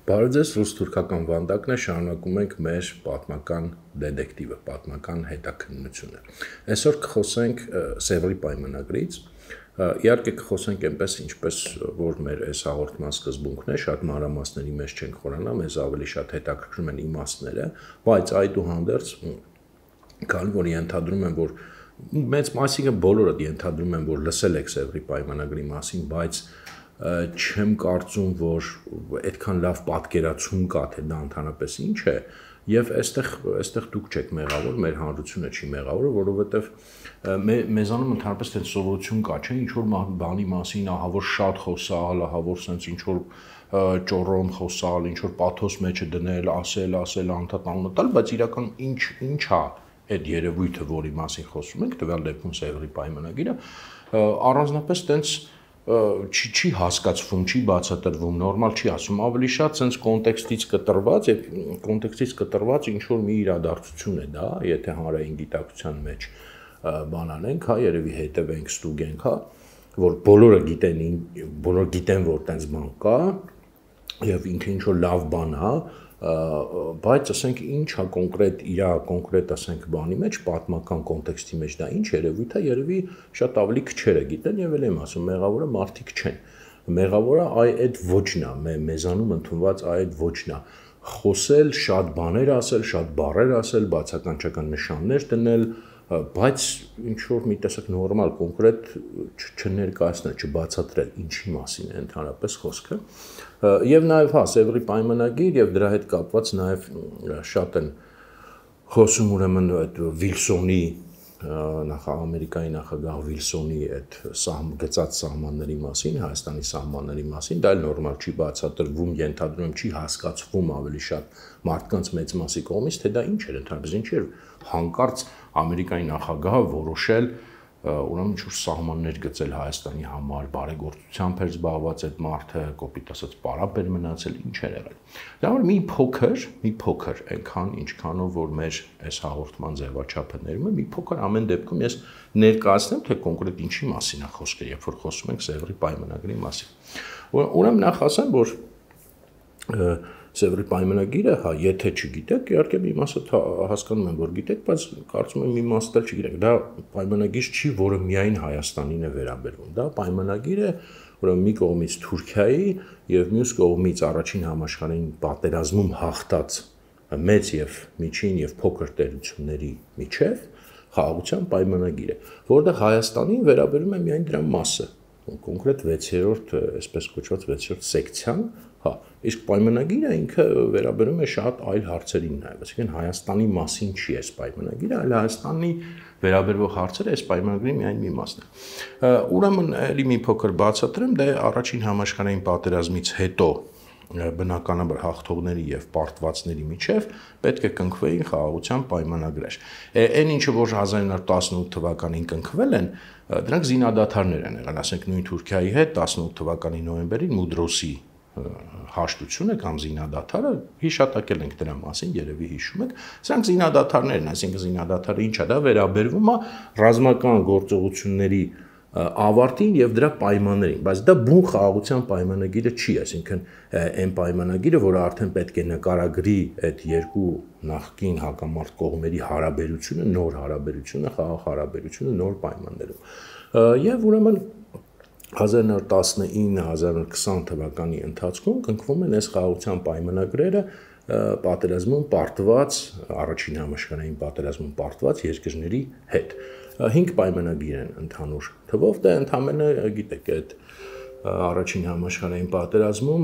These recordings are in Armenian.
Բարև ձեզ, ռուս-թուրքական վանդակն է, շարունակում ենք մեր պատմական դետեկտիվը, պատմական հետաքննությունը։ Այսօր կխոսենք Սևրի պայմանագրից, իհարկե կխոսենք այնպես, ինչպես որ մեր այս հաղորդման սկզբունքն է, շատ մանրամասների մեջ չենք խորանա, մեզ ավելի շատ հետաքրքրում են իմաստները, բայց այդուհանդերձ, քանի որ ենթադրում եմ, որ մեծ մասիկը բոլորը ենթադրում են, որ լսել եք Սևրի պայմանագրի մասին, բայց չեմ կարծում, որ այդքան լավ պատկերացում կա, թե դա ընդհանրապես ինչ է, եւ այստեղ դուք չեք մեղավոր, մեր հանրությունը չի մեղավոր, որովհետեւ մեզանում ընդհանրապես այդ սովորություն կա, չէ՞, ինչ որ բանի մասին, ահա որ շատ խոսալ, ահա որ sense ինչ որ ճորոն խոսալ, ինչ որ պաթոս մեջը դնել, ասել, անդադ անունը տալ, բայց իրական ինչ է այդ երևույթը, որի մասին խոսում ենք, տվյալ դեպքում Սևրի պայմանագիրը, առանձնապես տենց չի հասկացվում, չի բացատրվում, նորմալ չի ասում, ավելի շատ sense կոնտեքստից կտրված եւ կոնտեքստից կտրված ինչ որ մի իրադարձություն է դա, եթե հանրային գիտակցության մեջ բան անենք, հա, երևի հետևենք, ստուգենք, հա, որ բոլորը գիտեն, որ տենց բան կա եւ ինքը ինչ որ լավ բան է, բայց ասենք ինչ է կոնկրետ ասենք բանի մեջ, պատմական կոնտեքստի մեջ դա ինչ երևույթ է, երևի շատ ավելի քչերը գիտեն եւ էլ եմ ասում, մեղավորը մարդիկ չեն։ Մեղավորը այդ ոչն է, մեզանում ընդունված այդ ոչն է։ Խոսել, շատ բաներ ասել, շատ բառեր ասել, բացականչական նշաններ դնել, բայց ինչ որ մի տեսակ նորմալ կոնկրետ չներկայացնել, չբացատրել ինչի մասին է ընդհանրապես խոսքը։ Եվ նաև հա Սևրի պայմանագիր եւ դրա հետ կապված նաև շատ են խոսում ուրեմն այդ Վիլսոնի Ամերիկայի նախագահ Վիլսոնի այդ գծած սահմանների մասին, Հայաստանի սահմանների մասին, դա էլ նորմալ չի բացատրվում, ենթադրում եմ չի հասկացվում ավելի շատ մարդկանց մեծ մասի կողմից, թե դա ինչ էր ընդհանրապես, ինչ էր հանկարծ Ամերիկայի նախագահը որոշել ուրեմն ինչ-որ սահմաններ գծել Հայաստանի համար, բարեգործությամբ էր զբաղված այդ մարդը, կոպիտ ասած պարապ էր մնացել, ինչ էր եղել։ Դա որ մի փոքր, այնքան ինչքանով որ մեր այս հաղորդման ձևաչափը ներում է, մի փոքր ամեն դեպքում ես ներկայացնեմ, թե կոնկրետ ինչի մասին է խոսքը, երբ որ խոսում ենք Սևրի պայմանագրի մասին։ Ուրեմն նախ ասեմ, որ Սևրի պայմանագիրը, հա, եթե չգիտեք, իհարկե մի մասը հասկանում եմ, որ գիտեք, բայց կարծում եմ մի մասը էլ չգիտեք։ Դա պայմանագիր չի, որը միայն Հայաստանին է վերաբերվում։ Դա պայմանագիր է, ուրեմն մի կողմից Թուրքիայի եւ մյուս կողմից առաջին համաշխարհային պատերազմում հաղթած մեծ եւ միջին եւ փոքր տերությունների միջև խաղաղության պայմանագիր է, որտեղ Հայաստանին վերաբերում է միայն դրա մասը, կոնկրետ 6-րդ, այսպես կոչված 6-րդ սեկցիան, հա, իսկ պայմանագիրը ինքը վերաբերում է շատ այլ հարցերին նաև, այսինքն Հայաստանի մասին չի այս պայմանագիրը, այլ Հայաստանի վերաբերող հարցերը այս պայմանագրի միայն մի մասն է։ Ուրեմն էլի մի փոքր բացատրեմ, դե առաջին համաշխարհային պատերազմից հետո բնականաբար հաղթողների եւ պարտվածների միջև պետք է կնքվեին խաղաղության պայմանագրեր։ Այն ինչը որ 1918 թվականին կնքվել են, դրանք զինադադարներ են եղել, ասենք նույն Թուրքիայի հետ 18 թվականի նոյեմբերին Մուդրոսի հաշտությունը կամ զինադադարը հիշատակել ենք դրա մասին, երևի հիշում եք, սրանք զինադադարներն, այսինքն զինադադարը ինչ է, դա վերաբերվում է ռազմական գործողությունների ավարտին եւ դրա պայմաններին, բայց դա բուն խաղաղության պայմանագիրը չի, այսինքն այն պայմանագիրը, որը արդեն պետք է նկարագրի այդ երկու նախկին հակամարտ կողմերի հարաբերությունը, նոր հարաբերությունը, խաղաղ հարաբերությունը նոր պայմաններում։ Եվ ուրեմն 1919-1920 թվականի ընթացքում կնքվում են այս խաղաղության պայմանագրերը պատերազմում պարտված, առաջին համաշխարհային պատերազմում պարտված երկրների հետ։ 5 պայմանագիր են ընդհանուր թվով, դա ընդամենը գիտեք, այդ առաջին համաշխարհային պատերազմում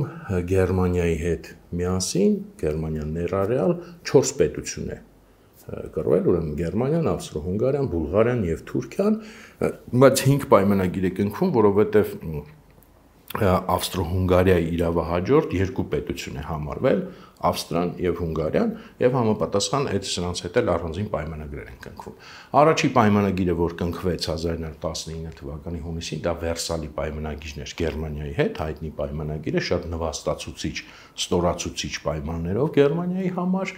Գերմանիայի հետ միասին, Գերմանիան ներառյալ 4 պետություն է կռվել, ուրեմն Գերմանիան, Ավստրո-Հունգարիան, Բուլղարիան եւ Թուրքիան, բայց 5 պայմանագիր է կնքվում, որովհետեւ Ավստրո-Հունգարիայի իրավահաջորդ երկու պետություն է համարվել, Ավստրիան եւ Հունգարիան, եւ համապատասխան այդ սրանց հետ էլ առանձին պայմանագրեր են կնքվում։ Առաջի պայմանագիրը, որ կնքվեց 1919 թվականի հունիսին, դա Վերսալի պայմանագիրն էր Գերմանիայի հետ, հայտնի պայմանագիրը, շատ նվաստացուցիչ, ստորացուցիչ պայմաններով Գերմանիայի համար։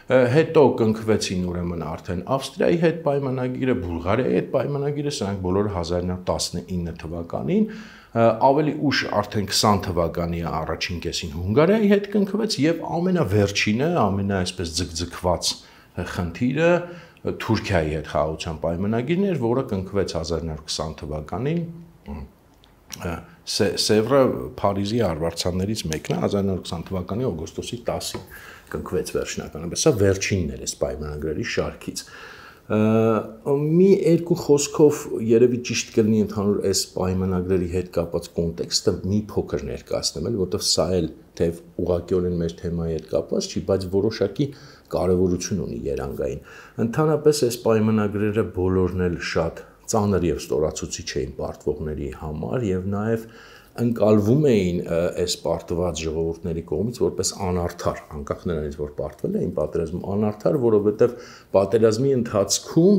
Հետո կնքվեցին ուրեմն արդեն Ավստրիայի հետ պայմանագիրը, Բուլղարիայի հետ պայմանագիրը, սրանք բոլորը 1919 թվականին, ավելի ուշ արդեն 20 թվականի առաջին կեսին Հունգարիայի հետ կնքվեց եւ ամենավերջինը, այսպես ձգձգված խնդիրը Թուրքիայի հետ խաղաղության պայմանագիրն էր, որը կնքվեց 1920 թվականին Սևրը Փարիզի արվարձաններից մեկն է 1920 թվականի օգոստոսի 10-ին կնքվեց վերջնականապես, սա վերջինն էր այս պայմանագրերի շարքից։ Մի երկու խոսքով երևի ճիշտ կլինի ընդհանուր այս պայմանագրերի հետ կապված կոնտեքստը մի փոքր ներկայացնել, որովհետև սա էլ թեև ուղղակիորեն մեր թեմայի հետ կապված չի, բայց որոշակի կարևորություն ունի երանգային։ Ընդհանրապես այս պայմանագրերը բոլորն էլ շատ ծանր եւ ստորացուցիչ էին պարտվողների համար եւ նաեւ ընկալվում էին այս պարտված ժողովուրդների կողմից որպես անարդար, անկախ նրանից որ պարտվել էին պատերազմում անարդար, որովհետեւ պատերազմի ընթացքում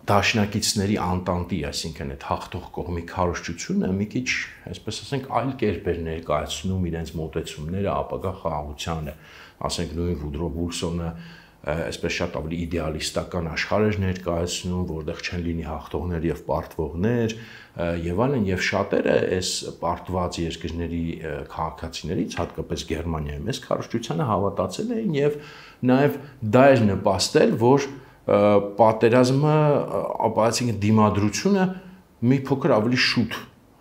դաշնակիցների անտանտի, այսինքն այդ հաղթող կողմի քարոզչությունը մի քիչ, այսպես ասենք, այլ կերպ էր ներկայացնում իրենց մոտեցումները ապագա խաղաղությանը, ասենք նույն Վուդրո Վիլսոնը այսպես շատ ավելի իդեալիստական աշխարհ էր ներկայացնում, որտեղ չեն լինի հաղթողներ եւ պարտվողներ եւ այլն, եւ շատերը այս պարտված երկրների քաղաքացիներից, հատկապես Գերմանիայում, այս քարոզչությանը հավատացել էին եւ նաեւ դա էր նպաստել, որ պատերազմը, այսինքն դիմադրությունը մի փոքր ավելի շուտ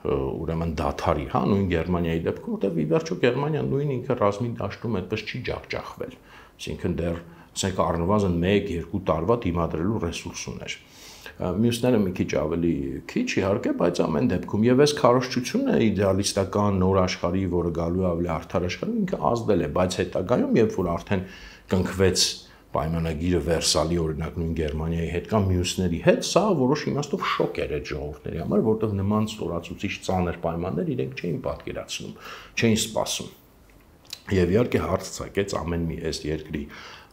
ուրեմն դադարի, հա, նույն Գերմանիայի դեպքում, որտեղ ի վերջո Գերմանիան նույն ինքը ռազմի դաշտում այդպես չի ջախջախվել, այսինքն դեռ ասենք առնվազն 1-2 տարվա դիմադրելու ռեսուրս ուներ։ Մյուսները մի քիչ ավելի քիչ իհարկե, բայց ամեն դեպքում եւ այս քարոզչությունը իդեալիստական նոր աշխարհի, որը գալու է ավելի արդար աշխարհում, ինքը ազդել է, բայց հետագայում, երբ որ արդեն կնքվեց պայմանագիրը Վերսալի օրինակ նույն Գերմանիայի հետ կամ մյուսների հետ, սա որոշ իմաստով շոկ էր այդ ժողովուրդների համար, որտեղ նման ստորացուցիչ ծանր պայմաններ իրենք չէին պատկերացնում, չէին սպասում։ Եվ իհարկե հարց ցակեց ամեն մի այս երկրի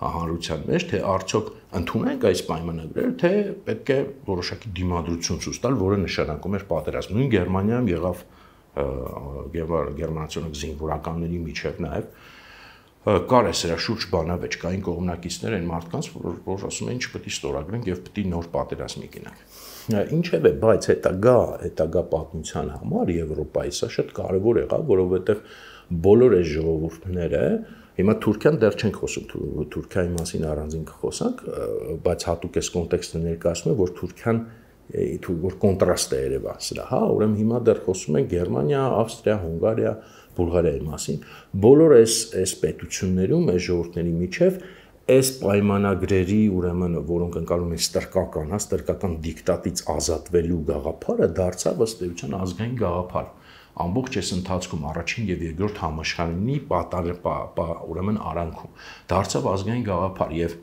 հանրության մեջ, թե արդյոք ընդունենք այս պայմանագրերը, թե պետք է որոշակի դիմադրություն ցույց տալ, որը նշանակում էր պատերազմ։ Նույն Գերմանիայում եղավ գերմանացիոնալ զինվորականների միջև նաև կար է սրա շուրջ բանավեճ, կային կողմնակիցներ այն մարդկանց, որ ասում էին չպետք է ստորագրենք եւ պետք է նոր պատերազմի գնանք։ Ինչևէ, բայց հետագա պատմության համար Եվրոպայի սա շատ կարեւոր եղավ, որովհետեւ բոլոր այս ժողովուրդները, հիմա Թուրքիան դեռ չենք խոսում, Թուրքիայի մասին առանձին կխոսանք, բայց հատուկ այս կոնտեքստը ներկայացնում է, որ Թուրքիան որ կոնտրաստ է երևա սրա, հա, ուրեմն հիմա դեռ խոսում ենք Գերմանիա, Ավստրիա, Հունգարիա, Բուլղարիայի մասին, բոլոր այս պետություններում, այս ժողովուրդների միջև այս պայմանագրերի, ուրեմն, որոնք ընկալում են ստրկական դիկտատից ազատվելու գաղափարը դարձավ ըստ էության ազգային գաղափար։ Ամբողջ այս ընթացքում առաջին եւ երկրորդ համաշխարհի ուրեմն արանքում դարձավ ազգային գաղափար եւ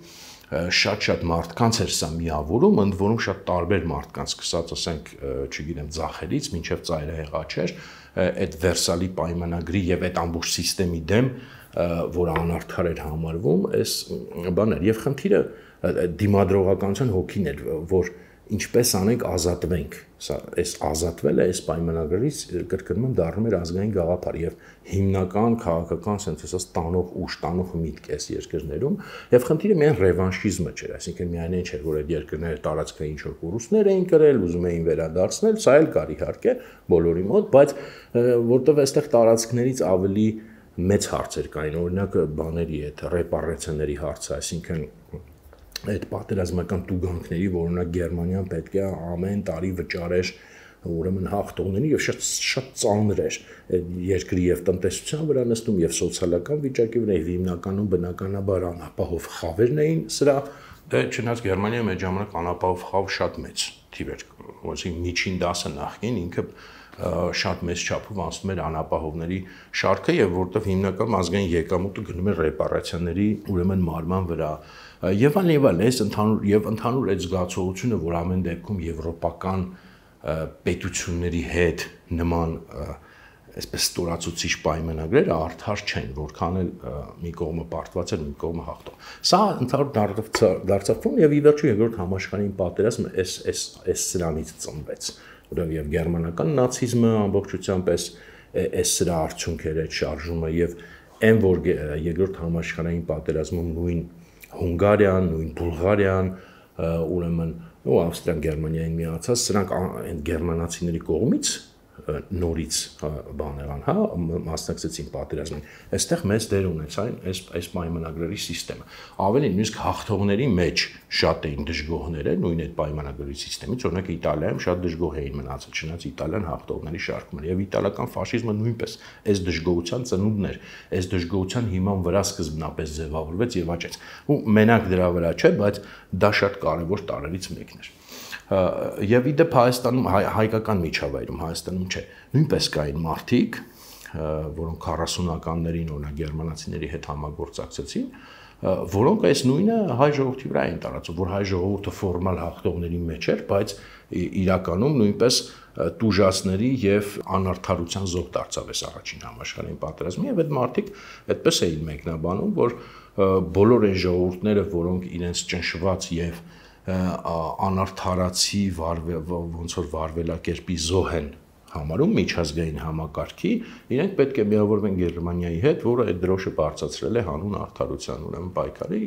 շատ մարդկանց էր սա միավորում, ընդ որում շատ տարբեր մարդկանց, սկսած ասենք, չգիտեմ, ձախերից մինչև ծայրահեղաչեր, այդ Վերսալի պայմանագրի եւ այդ ամբողջ համակարգի դեմ, որ անարդար էր համարվում, այս բաներ եւ խնդիրը դիմադրողականության հոգին էր, որ ինչպես անենք ազատվենք, սա այս ազատվելը այս պայմանագրից կրկնում եմ դառնում էր ազգային գաղափար եւ հիմնական քաղաքական սենսացիա տանող ուժ, տանող միտք այս երկրներում եւ խնդիրը միայն ռևանշիզմը չէր, այսինքն միայն այն չէր, որ այդ երկրները տարածքային ինչ որ կորուստներ էին կրել, ուզում էին վերադարձնել, սա էլ կար իհարկե բոլորի մոտ, բայց որտեղ այստեղ տարածքներից ավելի մեծ հարցեր կային, օրինակ բաների այդ ռեպարացիաների հարցը, այսինքն այդ պատերազմական տուգանքների, որ օրինակ Գերմանիան պետք է ամեն տարի վճարեր ուրեմն հաղթողներին եւ շատ ծանր էր այդ երկրի եւ տնտեսության վրա նստում եւ սոցիալական վիճակի վրա եւ հիմնականում բնականաբար անապահով խավերն էին սրա, դե չնայած Գերմանիայում այդ ժամանակ անապահով խավ շատ մեծ թիվ էր, այսինքն միջին դասը նախքին ինքը շատ մեծ չափով անցնում էր անապահովների շարքը եւ որտեղ հիմնական ազգային եկամուտը գնում էր ռեպարացիաների ուրեմն մարման վրա եւ այլն, այս ընդհանուր այդ զգացողությունը, որ ամեն դեպքում եվրոպական պետությունների հետ նման այսպես ստորացուցիչ պայմանագրերը արդար չեն, որքան էլ մի կողմը պարտված էր, մի կողմը հաղթող։ Սա ընդհանուր դարձավ եւ ի վերջո երկրորդ համաշխարհային պատերազմը այս սրանից ծնվեց, որովհետեւ եւ գերմանական նացիզմը ամբողջությամբ այս սրա արդյունքեր այդ շարժումը եւ այն որ երկրորդ համաշխարհային պատերազմում նույն Հունգարիան, նույն Բուլղարիան, ուրեմն ու Ավստրիան, Գերմանիային միացած, սրանք այն գերմանացիների կողմից նորից բան եղան, հա, մասնակցեցին պատերազմին։ Այստեղ մեծ դեր ունեցան այս պայմանագրերի համակարգը։ Ավելին, նույնիսկ հաղթողների մեջ շատ էին դժգոհները, նույն այդ պայմանագրերի համակարգից, օրինակ Իտալիայում շատ դժգոհ էին մնացել, չնայած Իտալիան հաղթողների շարքում էր, եւ իտալական ֆաշիզմը նույնպես այս դժգոհության ծնունդն էր, այս դժգոհության հիման վրա սկզբնապես ձևավորվեց եւ աճեց։ Ու մենակ դրա վրա չէ, բայց դա շատ կարեւոր տարրերից մեկն էր։ Եվ իդեպ Հայաստանում հայկական միջավայրում Հայաստանում չէ, նույնպես կային մարդիկ, որոնք 40-ականներին օրինակ գերմանացիների հետ համագործակցեցին, որոնք այս նույնը հայ ժողովրդի վրա էին տարածում, որ հայ ժողովուրդը ֆորմալ հաղթողների մեջ էր, բայց իրականում նույնպես տուժածների եւ անարդարության զոհ դարձավ այս առաջին համաշխարհային պատերազմը, եւ այդ մարդիկ այդպես էին մեկնաբանում, որ բոլոր այն ժողովուրդները, որոնք իրենց ճնշված եւ անարդարացի ոնց որ վարվելակերպի զոհ են համարում միջազգային համակարգի, իրենք պետք է միավորվեն Գերմանիայի հետ, որը այդ դրոշը բարձրացրել է հանուն արդարության, ուրեմն պայքարի։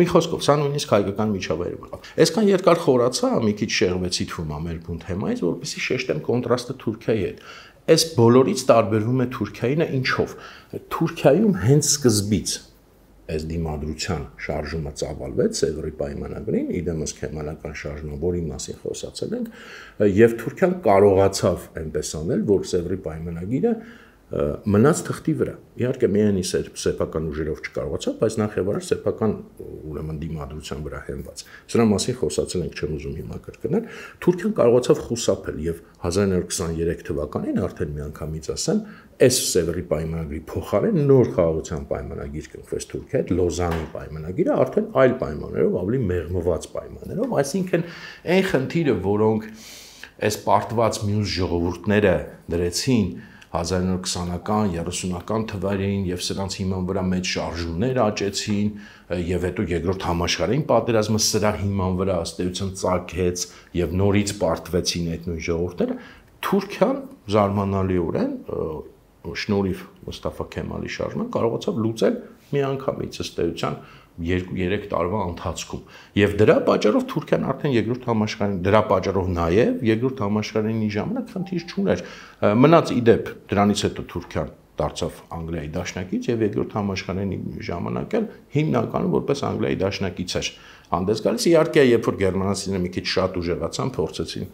Մի խոսքով, սա նույնիսկ հայկական միջավայրում եղավ։ Այսքան երկար խորացա, մի քիչ շեղվեցի թվում է մեր բուն թեմայից, որպեսզի շեշտեմ կոնտրաստը Թուրքիայի հետ։ Այս բոլորից տարբերվում է Թուրքիայինը ինչով։ Թուրքիայում հենց սկզբից այս դիմադրության շարժումը ծավալվեց Սևրի պայմանագրին, իդեմս քեմալական շարժումը, որի մասին խոսացել ենք, եւ Թուրքիան կարողացավ այնպես անել, որ Սևրի պայմանագիրը մնաց թղթի վրա։ Իհարկե միայն սեփական ուժերով չկարողացավ, բայց նախ եւ առաջ սեփական ուրեմն դիմադրության վրա հենված։ Սրա մասին խոսացել ենք, չեմ ուզում հիմա կրկնել։ Թուրքիան կարողացավ խուսափել եւ 1923 թվականին արդեն միանգամից ասեմ, այս Սևրի պայմանագրի փոխարեն նոր խաղաղության պայմանագիր կնքվեց Թուրքիայի հետ, Լոզանի պայմանագիրը արդեն այլ պայմաններով, ավելի մեղմված պայմաններով, այսինքն այն խնդիրը, որոնք այս պարտված մյուս ժողովուրդները դրեցին 1920-ական, 30-ական թվերին եւ սրանց հիման վրա մեծ շարժումներ աճեցին եւ հետո երկրորդ համաշխարհային պատերազմը սրա հիման վրա ըստ էության ծագեց եւ նորից պարտվեցին այդ նույն ժողովուրդները, Թուրքիան զարմանալիորեն շնորհիվ Մուստաֆա Քեմալի շարժման կարողացավ լուծել միանգամից ըստ էության 2-3 տարվա ընթացքում եւ դրա պատճառով Թուրքիան արդեն երկրորդ համաշխարհային դրա պատճառով նաեւ երկրորդ համաշխարհային ժամանակ խնդիր չուներ մնաց իդեպ դրանից հետո Թուրքիան դարձավ Անգլիայի դաշնակից եւ երկրորդ համաշխարհային ժամանակ էլ հիմնականում որպես Անգլիայի դաշնակից էր հանդես գալիս իհարկե երբ որ գերմանացիները մի քիչ շատ ուժեղացան փորձեցին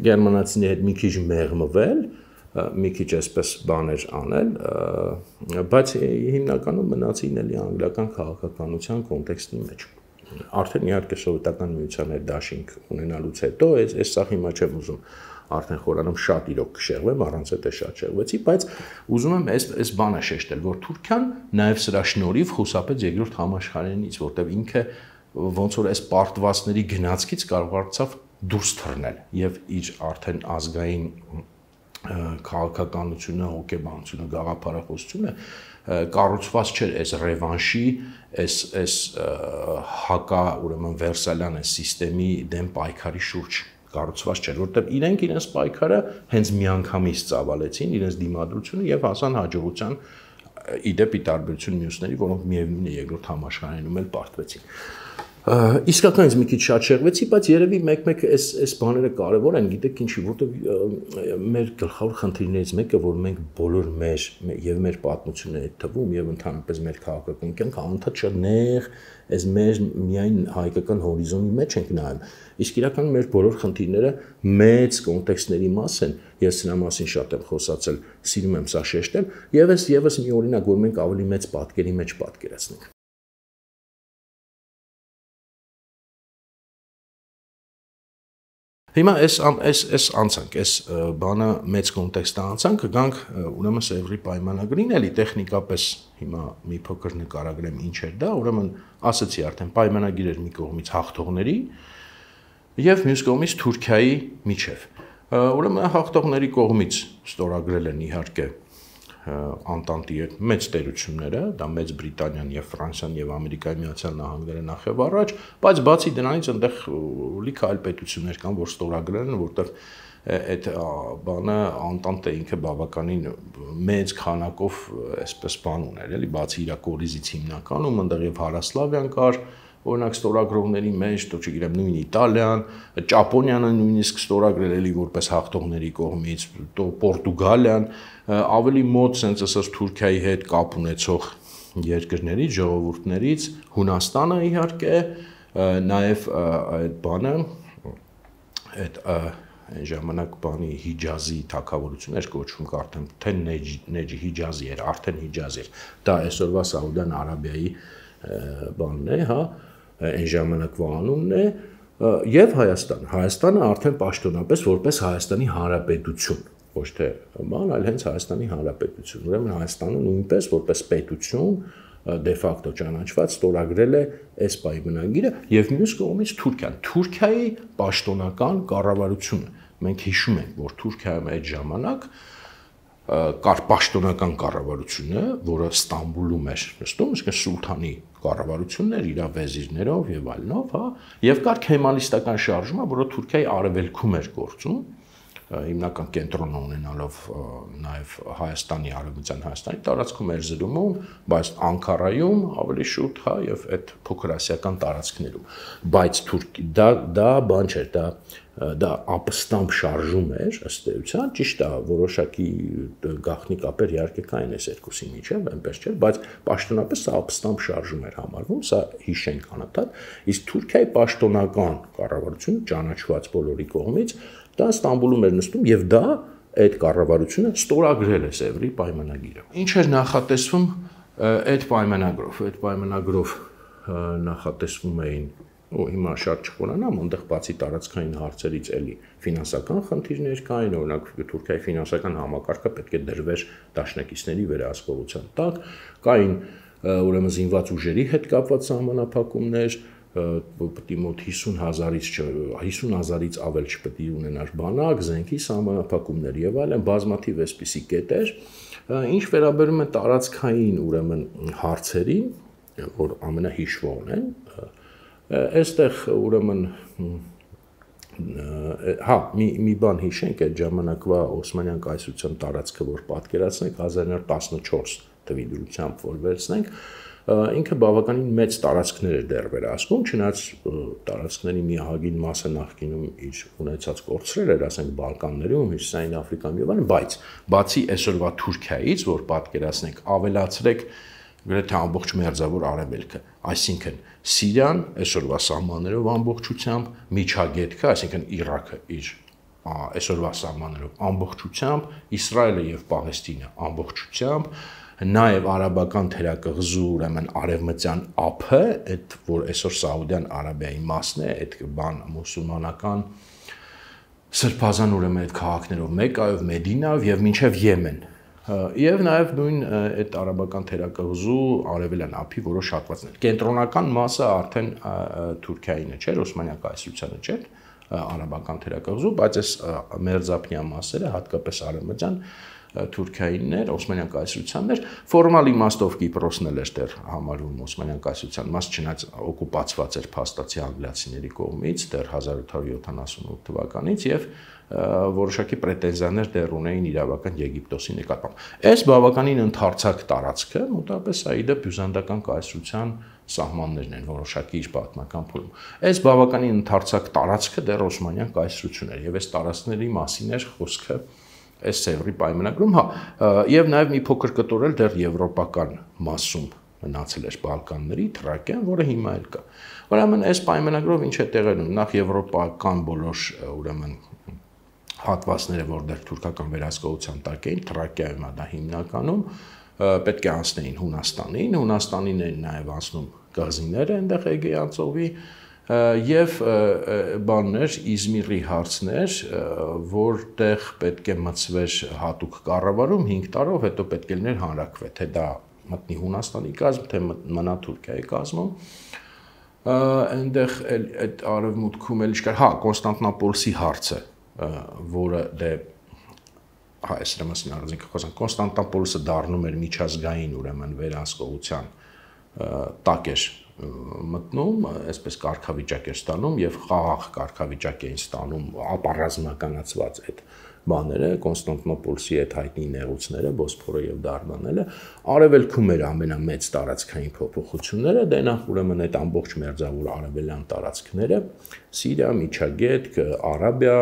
գերմանացիների հետ մի քիչ մեղմվել մի քիչ այսպես բաներ անել, բայց հիմնականում մնացին էլի անգլիական քաղաքականության կոնտեքստի մեջ։ Արդեն իհարկե սովետական միության հետ դաշինք ունենալուց հետո այս սա հիմա չեմ ուզում արդեն խորանում շատ իրոք կշեղվեմ, առանց այդ շատ շեղվեցի, բայց ուզում եմ այս բանը շեշտել, որ Թուրքիան նաև սրա շնորհիվ խուսափեց երկրորդ համաշխարհայինից, որտեղ ինքը ոնց որ այս պարտվածների գնացքից կարողացավ դուրս թռնել եւ իր արդեն ազգային քաղաքականությունը, հոգեբանությունը, գաղափարախոսությունը կառուցված չէր այս ռևանշի, այս հակա, ուրեմն վերսալյան այս համակարգի դեմ պայքարի շուրջ կառուցված չէր, որտեղ իրենք իրենց պայքարը հենց միանգամից ծավալեցին, իրենց դիմադրությունը եւ հասան հաջողության իդեպի տարբերություն մյուսների, որոնք միևնույն է երկրորդ համաշխարհայինում էլ պարտվեցին։ Իսկականից մի քիչ շատ շեղվեցի, բայց երևի մեկ-մեկ այս բաները կարևոր են, գիտեք ինչի, որտեղ մեր գլխավոր խնդիրներից մեկը, որ մենք բոլոր մեր պատմությունների թվում եւ ընդհանրապես մեր քաղաքական կյանքը անդադ շատ նեղ, այս մեր միայն հայկական հորիզոնի մեջ ենք նայում։ Իսկ իրականում մեր բոլոր խնդիրները մեծ կոնտեքստների մաս են։ Ես սրա մասին շատ եմ խոսացել, սիրում եմ սա շեշտել, եւ եւս մի օրինակ, որ մենք ավելի մեծ պատկերի մեջ պատկերացնենք։ Հիմա այս անցանք, այս բանը մեծ կոնտեքստը անցանք, գանք ուրեմն Սևրի պայմանագրին, էլի տեխնիկապես հիմա մի փոքր նկարագրեմ ինչ էր դա, ուրեմն ասացի արդեն պայմանագիր էր մի կողմից հաղթողների եւ մյուս կողմից Թուրքիայի միջև։ Ուրեմն հաղթողների կողմից ստորագրել են իհարկե Անտանտի հետ մեծ տերությունները, դա Մեծ Բրիտանիան եւ Ֆրանսիան եւ Ամերիկայի Միացյալ Նահանգները նախ եւ առաջ, բայց բացի դրանից այնտեղ լիքը այլ պետություններ կան, որ ստորագրել են, որտեղ այդ բանը Անտանտը ինքը բավականին մեծ քանակով այսպես բան ուներ, էլի, բացի իր կորիզից հիմնականում, այնտեղ եւ Հարասլավիան կար, օրինակ ստորագրողների մեջ, դու չգիտեմ, նույն Իտալիան, Ճապոնիան նույնիսկ ստորագրել էլի որպես հաղթողների կողմից, Պորտուգալիան, ավելի մոտ sense ասած Թուրքիայի հետ կապ ունեցող երկրներից, ժողովուրդներից, Հունաստանը իհարկե, նաև այդ բանը, այդ այն ժամանակ բանի Հիջազի թագավորություն էր կոչվում, արդեն թե Նեջի Հիջազի էր, արդեն Հիջազի էր, դա այսօրվա Սաուդյան Արաբիայի բանն է, հա, այն ժամանակվա անունն է, եւ Հայաստանը արդեն պաշտոնապես որպես Հայաստանի Հանրապետություն, ոչ թե բան, այլ հենց Հայաստանի Հանրապետություն, ուրեմն Հայաստանը նույնպես որպես պետություն դե ֆակտո ճանաչված ստորագրել է այս պայմանագիրը եւ մյուս կողմից Թուրքիայի պաշտոնական կառավարությունը, մենք հիշում ենք, որ Թուրքիայում այդ ժամանակ կար պաշտոնական կառավարությունը, որը Ստամբուլում էր նստում, իսկ սուլթանի կառավարությունն էր իր վեզիրներով եւ այլնով, հա, եւ կար քեմալիստական շարժումը, որը Թուրքիայի արևելքում էր գործում, հիմնական կենտրոնը ունենալով նաեւ Հայաստանի արևմտյան Հայաստանի տարածքում էր զրումում, բայց Անկարայում ավելի շուտ, հա, եւ այդ փոքրասիական տարածքներում, բայց դա բան չէր, դա ապստամբ շարժում էր, ըստ էության, ճիշտ է, որոշակի գաղտնի կապեր իհարկե կային այս երկուսի միջև, այնպես չէր, բայց պաշտոնապես սա ապստամբ շարժում էր համարվում, սա հիշենք անընդհատ, իսկ Թուրքիայի պաշտոնական կառավարությունը ճանաչված բոլորի կողմից, դա Ստամբուլում էր նստում եւ դա այդ կառավարությունը ստորագրել է Սևրի պայմանագիրը։ Ինչ էր նախատեսվում այդ պայմանագրով նախատեսվում էին հիմա շատ չխորանամ, այնտեղ բացի տարածքային հարցերից էլի ֆինանսական խնդիրներ կային, օրինակ Թուրքիայի ֆինանսական համակարգը պետք է դրվեր դաշնակիցների վերահսկողության տակ, կային ուրեմն զինված ուժերի հետ կապված սահմանափակումներ, պետք է մոտ 50,000-ից ավել չպետք է ունենար բանակ, զենքի սահմանափակումներ եւ այլն, բազմաթիվ այսպիսի կետեր, ինչ վերաբերում է տարածքային ուրեմն հարցերին, որ ամենահիշվողն են, այստեղ ուրեմն հա մի բան հիշենք այդ ժամանակվա Օսմանյան կայսրության տարածքը որ պատկերացնենք 1914 թվի դրությամբ որ վերցնենք ինքը բավականին մեծ տարածքներ էր դեռ վերահսկում, չնայած տարածքների մի ահագին մասը նախկինում իր ունեցած կորցրել էր, ասենք Բալկաններում, Հյուսիսային Աֆրիկայում եւ այլն, բայց բացի այսօրվա Թուրքիայից, որ պատկերացնենք, ավելացրեք գրեթե ամբողջ մերձավոր Արևելքը, այսինքն Սիրիան այսօրվա սահմաններով ամբողջությամբ, Միջագետքը, այսինքն Իրաքը իր այսօրվա սահմաններով ամբողջությամբ, Իսրայելը եւ Պաղեստինը ամբողջությամբ, նաև արաբական թերակղզու, ուրեմն արևմտյան ափը, այդ որ այսօր Սաուդյան Արաբիայի մասն է, այդ բան մուսուլմանական սրբազան ուրեմն այդ քաղաքներով Մեկայով, Մեդինայով եւ մինչեւ Եմեն։ Եվ նաև նույն այդ արաբական թերակղզու արևելյան ափի որոշ հատվածներ։ Կենտրոնական մասը արդեն Թուրքիայինը չէր, Օսմանյան կայսրությանը չէր, արաբական թերակղզու, բայց այս մերձափնյա մասերը, հատկապես արևմտյան Թուրքիայինն էր, Օսմանյան կայսրությանն էր, ֆորմալ իմաստով Կիպրոսն էլ էր դեռ համարվում Օսմանյան կայսրության մաս, չնայած օկուպացված էր փաստացի անգլիացիների կողմից դեռ 1878 թվականից եւ որոշակի պրետենզիաներ դեռ ունեին իրավական Եգիպտոսի նկատմամբ։ Այս բավականին ընդարձակ տարածքը մոտավորապես այդը բյուզանդական կայսրության սահմաններն են որոշակի իր պատմական փուլում։ Այս բավականին ընդարձակ տարածքը դեռ Օսմանյան կայսրություն էր եւ այս տարածքների մասին էր խոսքը այս Սևրի պայմանագրում, հա, եւ նաեւ մի փոքր կտորել դեռ եվրոպական մասում մնացել էր Բալկանների Թրակիան, որը հիմա էլ կա։ Ուրեմն այս պայմանագրով ինչ է տեղի ունենում, նախ եվրոպական բոլոր ուրեմն հատվածները, որտեղ թուրքական վերահսկողության տակ էին, Թրակիայում դա հիմնականում պետք է անցնեին Հունաստանին, Հունաստանին են նաեւ անցնում կղզիները այնտեղ Էգեյան ծովի եւ բաններ Իզմիրի հարցներ, որտեղ պետք է մտցվեր հատուկ կառավարում 5 տարով, հետո պետք է լիներ հանրաքվե, թե դա մտնի Հունաստանի կազմ, թե մնա Թուրքիայի կազմում։ Այնտեղ այդ արևմուտքում էլ իշխար, հա, Կոնստանտինոպոլսի հարցը, որը դե հա, այս ռամասին առանձին խոսանք, Կոնստանտինոպոլսը դառնում էր միջազգային ուրեմն վերահսկողության տակ էր մտնում, այսպես կարգավիճակ էր ստանում եւ խաղաղ կարգավիճակ էին ստանում ապառազմականացված այդ բաները, Կոնստանտինոպոլսի այդ հայտնի նեղուցները, Բոսփորը եւ Դարդանելը, արևելքում էր ամենամեծ տարածքային փոփոխությունները, դե նախ ուրեմն այդ ամբողջ մերձավոր արևելյան տարածքները, Սիրիա, Միջագետք, Արաբիա,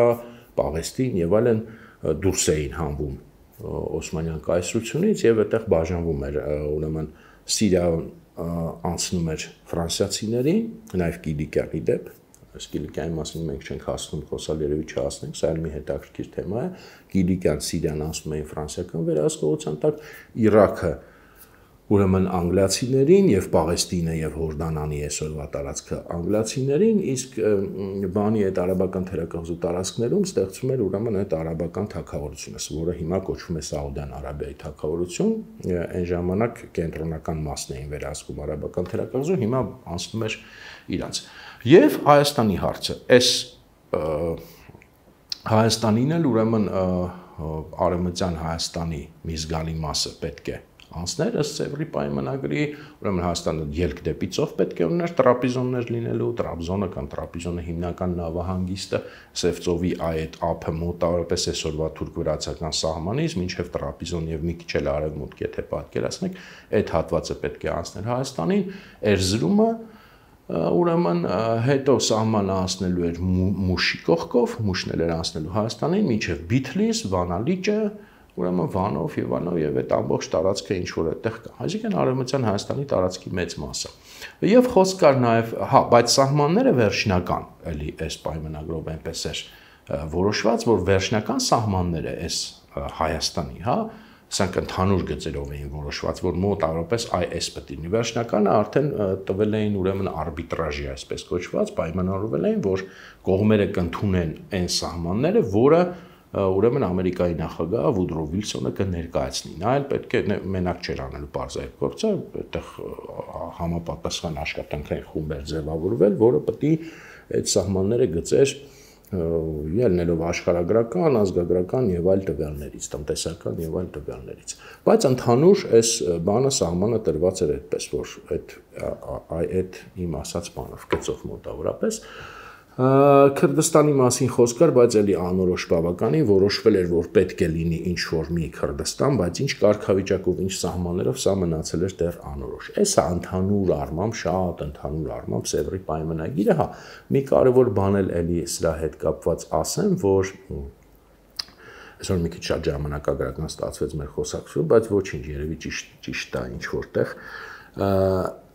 Պաղեստին եւ այլն դուրս էին հանվում Օսմանյան կայսրությունից եւ այդտեղ բաժանվում էր ուրեմն Սիրիա անցնում էր ֆրանսիացիներին, նաեւ Կիլիկիայի դեպ, այս Կիլիկիայի մասին մենք չենք հասնում խոսալ, երևի չհասնենք, սա էլ մի հետաքրքիր թեմա է, Կիլիկիան, Սիրիան անցնում էին ֆրանսիական վերահսկողության տակ, Իրաքը ուրեմն անգլիացիներին եւ Պաղեստինը եւ Հորդանանի այսօրվա տարածքը անգլիացիներին, իսկ բանի այդ արաբական թերակղզու տարածքներում ստեղծում էր ուրեմն այդ արաբական թագավորությունը, որը հիմա կոչվում է Սաուդյան Արաբիայի թագավորություն, այն ժամանակ կենտրոնական մասն էին վերահսկում արաբական թերակղզու, հիմա անցնում էր իրանց։ Եվ Հայաստանի հարցը, այս Հայաստանին էլ ուրեմն արևմտյան Հայաստանի մի զգալի մասը պետք է անցներ ըստ Սևրի պայմանագրի, ուրեմն Հայաստանը ելք դեպի ծով պետք է ուներ տրապիզոններ լինելու, Տրաբզոնը կամ Տրապիզոնը հիմնական նավահանգիստը Սև ծովի այդ ափը մոտավորապես այսօրվա թուրք-վրացական սահմանից մինչև Տրապիզոն եւ մի քիչ էլ արևմուտք, եթե պատկերացնեք, այդ հատվածը պետք է անցներ Հայաստանին, Էրզրումը ուրեմն հետո սահմանը անցնելու էր Մուշի կողքով, Մուշն էր անցնելու Հայաստանին, մինչև Բիթլիս, Վանալիճը, ուրեմն Վանով եւ Վանով եւ այդ ամբողջ տարածքը ինչ որ այդտեղ կա։ Այսինքն արևմտյան Հայաստանի տարածքի մեծ մասը։ Եվ խոսք կար նաեւ, հա, բայց սահմանները վերջնական, էլի այս պայմանագրով այնպես էր որոշված, որ վերջնական սահմանները այս Հայաստանի, հա, սրանք ընդհանուր գծերով էին որոշված, որ մոտավորապես այս պետք է լինի։ Վերջնականը արդեն տվել էին ուրեմն արբիտրաժի, այսպես կոչված, պայմանավորվել էին, որ կողմերը կընդունեն այն սահմանները, որը ուրեմն Ամերիկայի նախագահ Վուդրո Վիլսոնը կներկայացնի։ Նա էլ պետք է մենակ չէր անելու բարձ այդ գործը, այդտեղ համապատասխան աշխատանքային խումբ էր ձևավորվել, որը պետք է այդ սահմանները գծեր ելնելով աշխարհագրական, ազգագրական եւ այլ տվյալներից, տնտեսական եւ այլ տվյալներից։ Բայց ընդհանուր այս բանը սահմանը տրված էր այդպես, որ այդ իմ ասած բանով գծով մոտավորապես Քրդստանի մասին խոսք կար, բայց էլի անորոշ բավականին որոշվել էր, որ պետք է լինի ինչ-որ մի Քրդստան, բայց ինչ կարգավիճակով, ինչ սահմաններով սա մնացել էր դեռ անորոշ։ Էսա ընդհանուր առմամբ, շատ ընդհանուր առմամբ Սևրի պայմանագիրը, հա, մի կարևոր բան էլ էլի սրա հետ կապված ասեմ, որ այսօր մի քիչ շատ ժամանակագրական ստացվեց մեր խոսակցությունը, բայց ոչինչ, երևի ճիշտ է ինչ որտեղ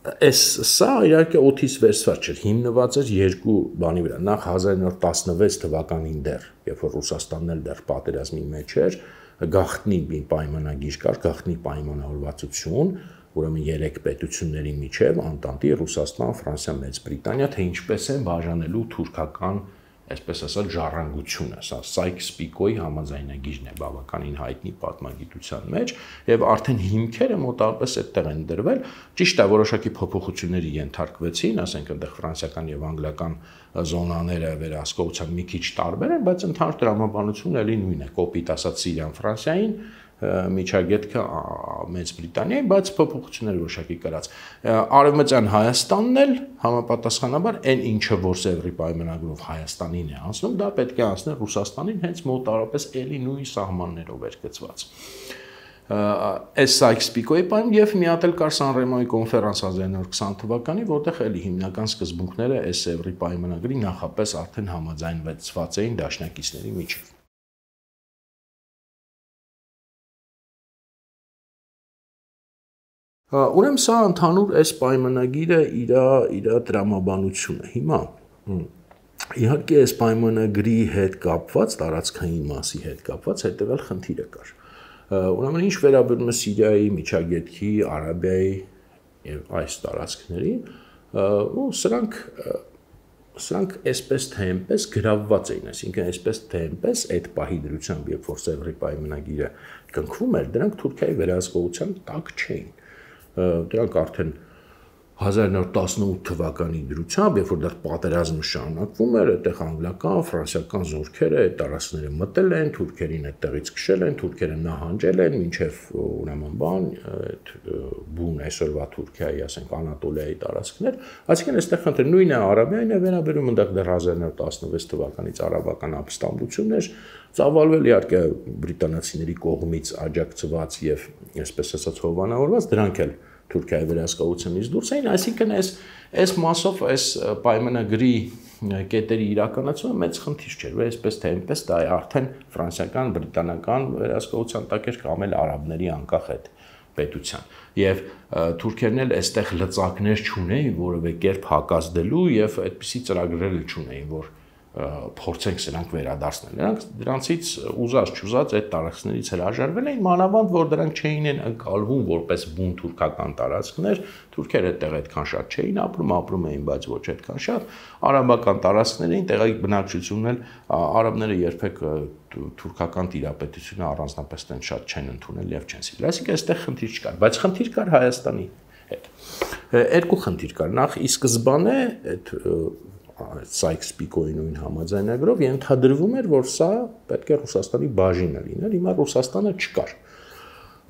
Սա իհարկե օդից վերցված չէր, հիմնված էր երկու բանի վրա, նախ 1916 թվականին դեռ, երբ որ Ռուսաստանն էլ դեռ պատերազմի մեջ էր, գաղտնի մի պայմանագիր կար, գաղտնի պայմանավորվածություն, ուրեմն երեք պետությունների միջև, Անտանտի, Ռուսաստան, Ֆրանսիա, Մեծ Բրիտանիա, թե ինչպես են բաժանելու թուրքական այսպես ասած ժառանգությունը, սա Սայքս-Պիկոյի համաձայնագիրն է բավականին հայտնի պատմագիտության մեջ եւ արդեն հիմքերը մոտավորապես այդտեղ են դրվել, ճիշտ է որոշակի փոփոխությունների ենթարկվեցին, ասենք այնտեղ ֆրանսիական եւ անգլիական զոնաները վերահսկողության մի քիչ տարբեր են, բայց ընդհանուր տրամաբանությունը էլի նույնն է, կոպիտ ասած Սիրիան Ֆրանսիային Միջագետքը Մեծ Բրիտանիայի, բայց փոփոխություններ որոշակի կրած։ Արևմտյան Հայաստանն էլ համապատասխանաբար այն ինչը որ Սևրի պայմանագրով Հայաստանին է անցնում, դա պետք է անցներ Ռուսաստանին, հենց մոտավորապես էլի նույն սահմաններով էր գծված։ Այս Սայքս-Պիկոյի պայման եւ մի հատ էլ կար Սան-Ռեմոյի կոնֆերանս 1920 թվականին, որտեղ էլի հիմնական սկզբունքները այս Սևրի պայմանագրի նախապես արդեն համաձայնվեցված էին դաշնակիցների միջև։ Ուրեմն սա ընդհանուր այս պայմանագիրը իր տրամաբանությունը։ Հիմա իհարկե այս պայմանագրի հետ կապված, տարածքային մասի հետ կապված հետևյալ խնդիրը կար։ Ուրեմն ինչ վերաբերում է Սիրիայի, Միջագետքի, Արաբիայի եւ այս տարածքներին, սրանք այսպես թե այնպես գրավված էին, այսինքն այսպես թե այնպես այդ պահի դրությամբ, երբ որ Սևրի պայմանագիրը կնքվում էր, դրանք Թուրքիայի վերահսկողության տակ չէին։ Դրանք արդեն 1918 թվականի դրությամբ, երբ որ դեռ պատերազմը շարունակվում էր, այդտեղ անգլիական, ֆրանսիական զորքերը այդ տարածքները մտել են, թուրքերին այդտեղից քշել են, թուրքերը նահանջել են, մինչև ուրեմն այդ բուն այսօրվա Թուրքիայի, ասենք Անատոլիայի տարածքներ, այսինքն այստեղ խնդիր նույնը Արաբիային է վերաբերում, այնտեղ դեռ 1916 թվականից արաբական ապստամբություններ ծավալվել իհարկե բրիտանացիների կողմից աջակցված եւ այսպես ասած հովանավորված, դրանք էլ Թուրքիայի վերահսկողությունից դուրս էին, այսինքն այս մասով այս պայմանագրի կետերի իրականացումը մեծ խնդիր չէր, այսպես թե այնպես դա արդեն ֆրանսիական, բրիտանական վերահսկողության տակ էր կամ էլ արաբների անկախ այդ պետության։ Եվ թուրքերն էլ այստեղ լծակներ չունեին որևէ կերպ հակազդելու եւ այդպիսի ծրագրեր չունեին, որ փորձենք սրանք վերադարձնել։ Նրանք դրանցից ուզած-չուզած այդ տարածքներից հրաժարվել էին, մանավանդ որ դրանք չէին ընկալվում որպես բուն թուրքական տարածքներ, թուրքերը այդտեղ այդքան շատ չէին ապրում էին, բայց ոչ այդքան շատ, արաբական տարածքներին տեղի բնակչությունն էլ արաբները երբեք թուրքական տիրապետությունը առանձնապես տեն շատ չեն ընդունել եւ չեն սիրել։ Այսինքն այստեղ խնդիր չկար, բայց խնդիր կար Հայաստանի հետ։ Երկու խնդիր կար։ Նախ ի սկզբանե այդ Սայքս-Պիկոյի նույն համաձայնագրով ենթադրվում էր, որ սա պետք է Ռուսաստանի բաժինը լիներ, հիմա Ռուսաստանը չկար։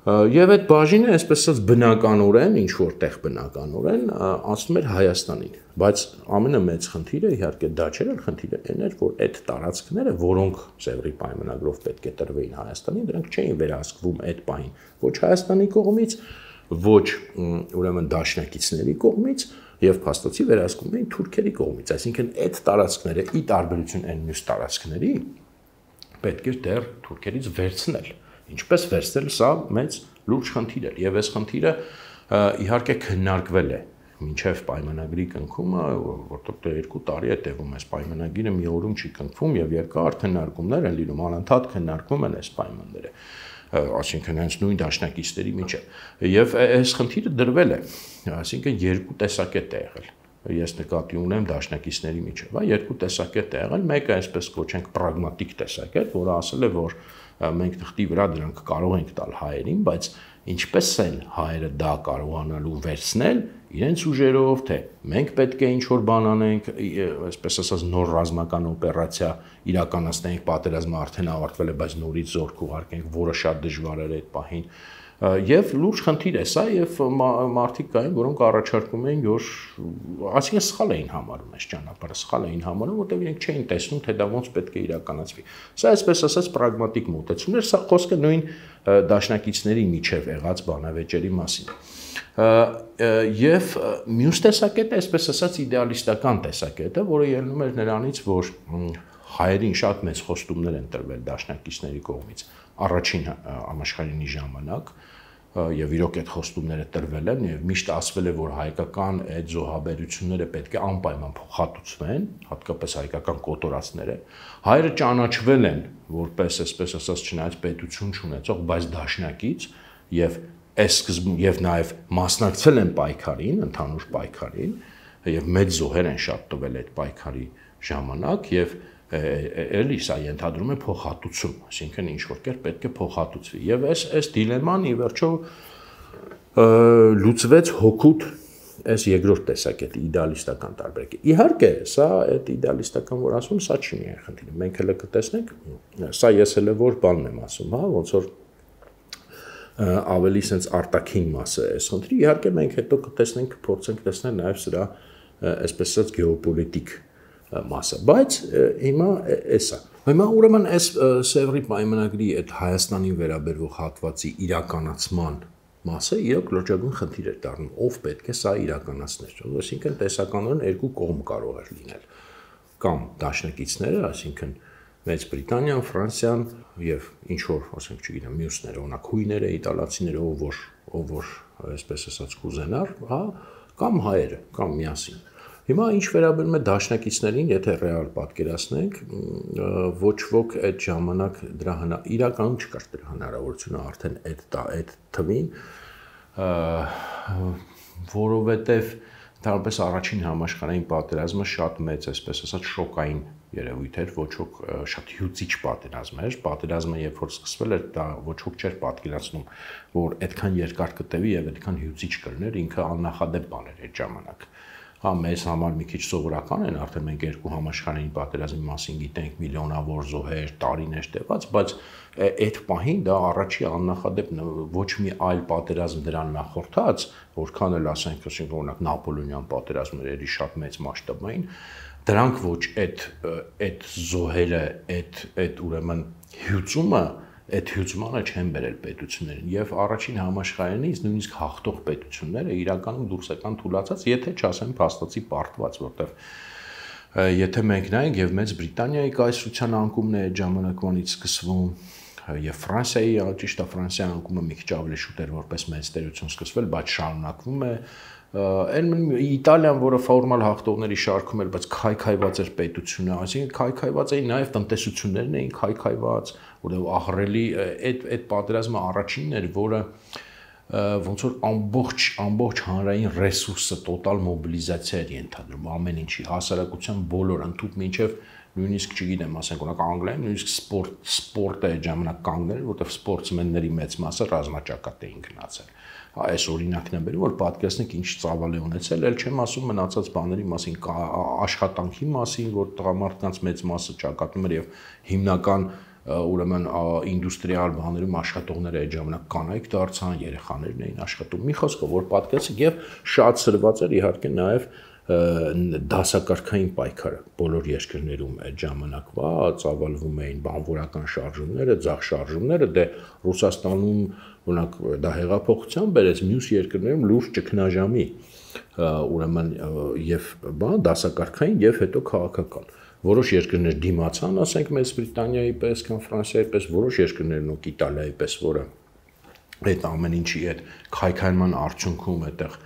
Եվ այդ բաժինը, այսպես ասած, բնականորեն, ինչ որտեղ բնականորեն անցնում էր Հայաստանին, բայց ամենամեծ խնդիրը իհարկե դա չէր, խնդիրը այն էր, որ այդ տարածքները, որոնք Սևրի պայմանագրով պետք է տրվեին Հայաստանին, դրանք չէին վերահսկվում այդ պահին ոչ Հայաստանի կողմից, ոչ ուրեմն դաշնակիցների կողմից եւ փաստացի վերահսկում էին թուրքերի կողմից, այսինքն այդ տարածքները ի տարբերություն այն մյուս տարածքների պետք էր դեռ թուրքերից վերցնել։ Ինչպես վերցնել, սա մեծ լուրջ խնդիր էր եւ այս խնդիրը իհարկե քննարկվել է մինչև պայմանագրի կնքումը, որտեղ 2 տարի է տևում այս պայմանագիրը, մի օրում չի կնքվում եւ երկար քննարկումներ են լինում, անընդհատ քննարկվում են այս պայմանները, այսինքն հենց նույն դաշնակիցների միջև եւ այս խնդիրը դրվել է, այսինքն երկու տեսակետ է եղել։ Ես նկատի ունեմ դաշնակիցների միջև, երկու տեսակետ է եղել, մեկը այսպես կոչենք պրագմատիկ տեսակետ, որը ասել է, որ մենք թղթի վրա դրանք կարող ենք տալ հայերին, բայց ինչպես են հայերը դա կարողանալու վերցնել իրենց ուժերով, թե մենք պետք է ինչ-որ բան անենք, այսպես ասած նոր ռազմական օպերացիա իրականացնենք, պատերազմը արդեն ավարտվել է, բայց նորից զորք ուղարկենք, որը շատ դժվար էր այդ պահին։ Եվ լուրջ խնդիր է սա եւ մարդիկ կային, որոնք առաջարկում էին, որ այսինքն սխալ էին համարում այս ճանապարհը, սխալ էին համարում, որտեղ իրենք չէին տեսնում, թե դա ոնց պետք է իրականացվի։ Սա այսպես ասած պրագմատիկ մոտեցումներ, սա խոսքը նույն դաշնակիցների միջև եղած բանավեճերի մասին։ Եվ մյուս տեսակետը, այսպես ասած, իդեալիստական տեսակետը, որը ելնում էր նրանից, որ հայերին շատ մեծ խոստումներ են տրվել դաշնակիցների կողմից առաջին համաշխարհային ժամանակ եւ իրոք այդ խոստումները տրվել են եւ միշտ ասվել է, որ հայկական այդ զոհաբերությունները պետք է անպայման փոխհատուցվեն, հատկապես հայկական կոտորածները։ Հայերը ճանաչվել են որպես, այսպես ասած, չնայած պետություն չունեցող, բայց դաշնակից եւ եւ նաեւ մասնակցել են պայքարին, ընդհանուր պայքարին եւ մեծ զոհեր են շատ տվել այդ պայքարի ժամանակ եւ էլի սա ենթադրում է փոխհատուցում, այսինքն ինչ որ կերպ պետք է փոխհատուցվի եւ այս դիլեման ի վերջո լուծվեց հօգուտ այս երկրորդ տեսակետի իդեալիստական տարբերակի։ Իհարկե, սա այդ իդեալիստական որ ասում, սա չի միայն խնդիրը։ Մենք հələ կտեսնենք, սա ես հələ որ բանն եմ ասում, հա, ոնց որ ավելի sense արտաքին մասը է այս խնդրի։ Իհարկե մենք հետո կտեսնենք, փորձենք տեսնել նաեւ սրա այսպես ասած գեոպոլիտիկ մասը, բայց հիմա էսա։ Հիմա ուրեմն այս Սևրի պայմանագրի այդ Հայաստանին վերաբերող հատվածի իրականացման մասը իրոք լրջագույն խնդիր էր դառնում, ով պետք է սա իրականացներ։ Այսինքն տեսականորեն երկու կողմ կարող էր լինել։ Կամ դաշնակիցները, այսինքն Մեծ Բրիտանիան, Ֆրանսիան եւ ինչ որ, ասենք, չգիտեմ, մյուսները, օրինակ հույները, իտալացիները, ով որ այսպես ասած կուզենար, հա, կամ հայերը, կամ միասին։ Հիմա ինչ վերաբերում է դաշնակիցներին, եթե ռեալ պատկերացնենք, ոչ ոք այդ ժամանակ դրա իրականում չկար դրա հնարավորությունը արդեն այդ թվին, որովհետև Ընդհանրապես առաջին համաշխարհային պատերազմը շատ մեծ, այսպես ասած, շոկային երևույթ էր, ոչ ոք շատ հյուծիչ պատերազմ էր։ Պատերազմը երբ որ սկսվել էր, դա ոչ ոք չէր պատկերացնում, որ այդքան երկար կտևի եւ այդքան հյուծիչ կլներ, ինքը աննախադեպ բան էր այդ ժամանակ։ Հա, մեզ համար մի քիչ սովորական են, արդեն մենք երկու համաշխարհային պատերազմի մասին գիտենք, միլիոնավոր զոհեր, տարիներ տևած, բայց այդ պահին դա առաջի աննախադեպ ոչ մի այլ պատերազմ դրան նախորդած, որքան էլ ասենք, օրինակ Նապոլեոնյան պատերազմները շատ մեծ մասշտաբային, դրանք ոչ այդ զոհերը, այդ ուրեմն հյուծումը այդ հյուծմանը չեն բերել պետություններին եւ առաջին համաշխարհայինից նույնիսկ հաղթող պետությունները իրականում դուրս եկան թուլացած, եթե չասեմ փաստացի պարտված, որտեղ եթե մենք նայենք եւ Մեծ Բրիտանիայի կայսրության անկումն է այդ ժամանակվանից սկսվում եւ Ֆրանսիայի, ճիշտ է, Ֆրանսիայի անկումը մի քիչ ավելի շուտ էր որպես մեծ տերություն սկսվել, բայց շարունակվում է Իտալիան, որը ֆորմալ հաղթողների շարքում էր, բայց քայքայված էր պետությունը, այսինքն քայքայված էին նաև տնտեսություններն էին քայքայված, որտեղ ահռելի այդ պատերազմը առաջինն էր, որը ոնց որ ամբողջ հանրային ռեսուրսը տոտալ մոբիլիզացիա էր ենթադրում ամեն ինչի, հասարակության բոլոր ընդհանուր մինչև նույնիսկ չգիտեմ, ասենք օրինակ Անգլիայում նույնիսկ սպորտը այդ ժամանակ կանգնել, որտեղ սպորտսմենների մեծ մասը ռազմաճակատ էին գնացել։ Այս օրինակն է բերում, որ պատկերացնեք ինչ ծավալ է ունեցել, ել չեմ ասում մնացած բաների մասին, աշխատանքի մասին, որ տղամարդկանց մեծ մասը ճակատում էր եւ հիմնական ուրեմն ինդուստրիալ բաներում աշխատողները այդ ժամանակ կանայք դարձան, երեխաներն էին աշխատում։ Մի խոսքով, որ պատկերացեք եւ շատ սրված էր իհարկե նաեւ դասակարգային պայքարը բոլոր երկրներում այդ ժամանակվա ծավալվում էին բանվորական շարժումները, ձախ շարժումները, դե Ռուսաստանում օրինակ դա հեղափոխության բերեց, մյուս երկրներում լուրջ ճգնաժամի ուրեմն եւ բան դասակարգային եւ հետո քաղաքական որոշ երկրներ դիմացան, ասենք Մեծ Բրիտանիայի պես կամ Ֆրանսիայի պես, որոշ երկրներն ու Իտալիայի պես, որը այդ ամեն ինչի այդ քայքայման արդյունքում այդտեղ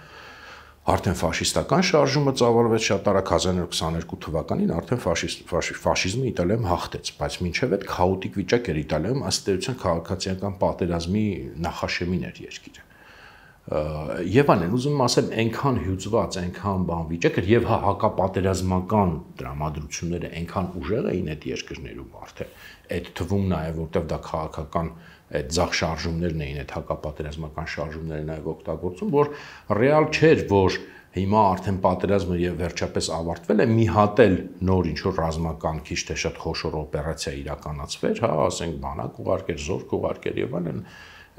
արդեն ֆաշիստական շարժումը ծավալվեց շատ արագ 1922 թվականին արդեն ֆաշիզմը Իտալիայում հաղթեց, բայց մինչև այդ քաոտիկ վիճակ էր Իտալիայում, ըստ էության քաղաքացիական պատերազմի նախաշեմին էր երկիրը։ Եվ այլն, ուզում եմ ասեմ, այնքան հյուծված, այնքան բան վիճակ էր եւ հակապատերազմական դրամատրությունները այնքան ուժեղ էին այդ երկրներում արդեն։ Այդ թվում նաեւ որտեղ դա քաղաքական այդ ձախ շարժումներն էին, այդ հակապատերազմական շարժումները նաեւ օգտագործում, որ ռեալ չէր, որ հիմա արդեն պատերազմը եւ վերջապես ավարտվել է, մի հատ էլ նոր ինչ որ ռազմական քիչ թե շատ խոշոր օպերացիա իրականացվեր, հա, ասենք բանակ ուղարկեր, զորք ուղարկեր եւ այլն,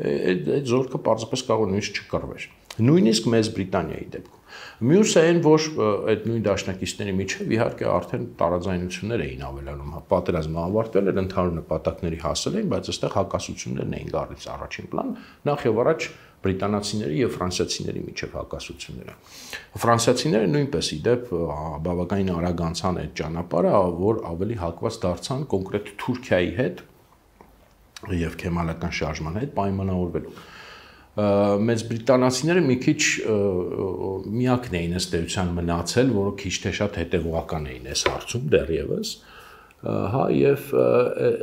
այդ զորքը պարզապես կարող է նույնիսկ չկռվեր։ Նույնիսկ Մեծ Բրիտանիայի դեպքում։ Մյուսը այն, որ այդ նույն դաշնակիցների միջև իհարկե արդեն տարաձայնություններ էին ավելանում, պատերազմը ավարտվել էր, ընդհանուր նպատակների հասել էին, բայց այստեղ հակասություններն էին գալիս առաջին պլան, նախ եւ առաջ բրիտանացիների եւ ֆրանսիացիների միջև հակասությունները։ Ֆրանսիացիները նույնպես իդեպ բավականին արագ անցան այդ ճանապարհը, որ ավելի հակված դարձան կոնկրետ Թուրքիայի հետ եւ քեմալական շարժման հետ պայմանավորվելու։ Մեծ բրիտանացիները մի քիչ միակն էին ըստ էության մնացել, որը քիչ թե շատ հետևողական էին այս հարցում դեռևս, հա եւ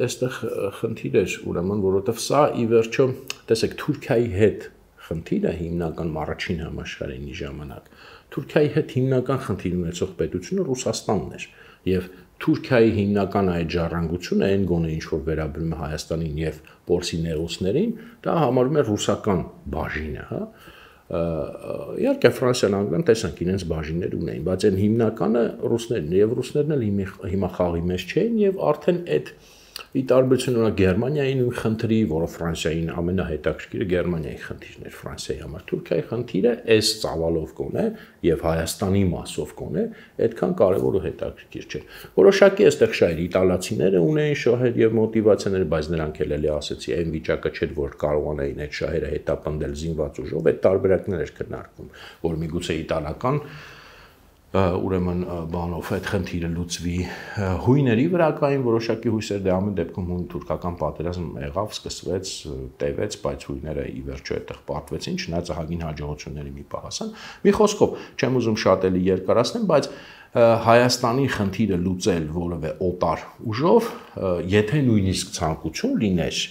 այստեղ խնդիր էր ուրեմն, որովհետեւ սա ի վերջո, տեսեք, Թուրքիայի հետ խնդիրը հիմնական առաջին համաշխարհայինի ժամանակ Թուրքիայի հետ հիմնական խնդիր ունեցող պետությունը Ռուսաստանն էր եւ Թուրքիայի հիմնական այդ ժառանգությունը այն գոնե ինչ որ վերաբերում է Հայաստանին եւ Պորսի նեղուցներին, դա համարվում է ռուսական բաժինը, հա։ Իհարկե Ֆրանսիան Անգլիան տեսանք իրենց բաժիններ ունեին, բայց այն հիմնականը ռուսներն եւ ռուսներն էլ հիմա խաղի մեջ չէին եւ արդեն այդ ի տարբերություն օրինակ Գերմանիայի նույն խնդրի, որը Ֆրանսիային ամենահետաքրքիրը Գերմանիայի խնդիրն էր Ֆրանսիայի համար, Թուրքիայի խնդիրը այս ծավալով կոնե եւ Հայաստանի մասով կոնե, այդքան կարեւոր ու հետաքրքիր չէ։ Որոշակի այստեղ շահեր իտալացիները ունեին շահեր եւ մոտիվացիաներ, բայց նրանք էլ էլի ասեցի, այն վիճակը չէր, որ կարողանային այդ շահերը հետապնդել զինված ուժով, այդ տարբերակներ էր քննարկվում, որ միգուցե իտալական ուրեմն բանով այդ խնդիրը լուծվի հույների վրա կային որոշակի հույսեր, դե ամեն դեպքում հուն-թուրքական պատերազմ եղավ, սկսվեց, տևեց, բայց հույները ի վերջո այդտեղ պարտվեցին, չնայած ահագին հաջողությունների մի պահ հասան։ Մի խոսքով, չեմ ուզում շատ էլի երկարացնել, բայց Հայաստանի խնդիրը լուծել որևէ օտար ուժով, եթե նույնիսկ ցանկություն լիներ,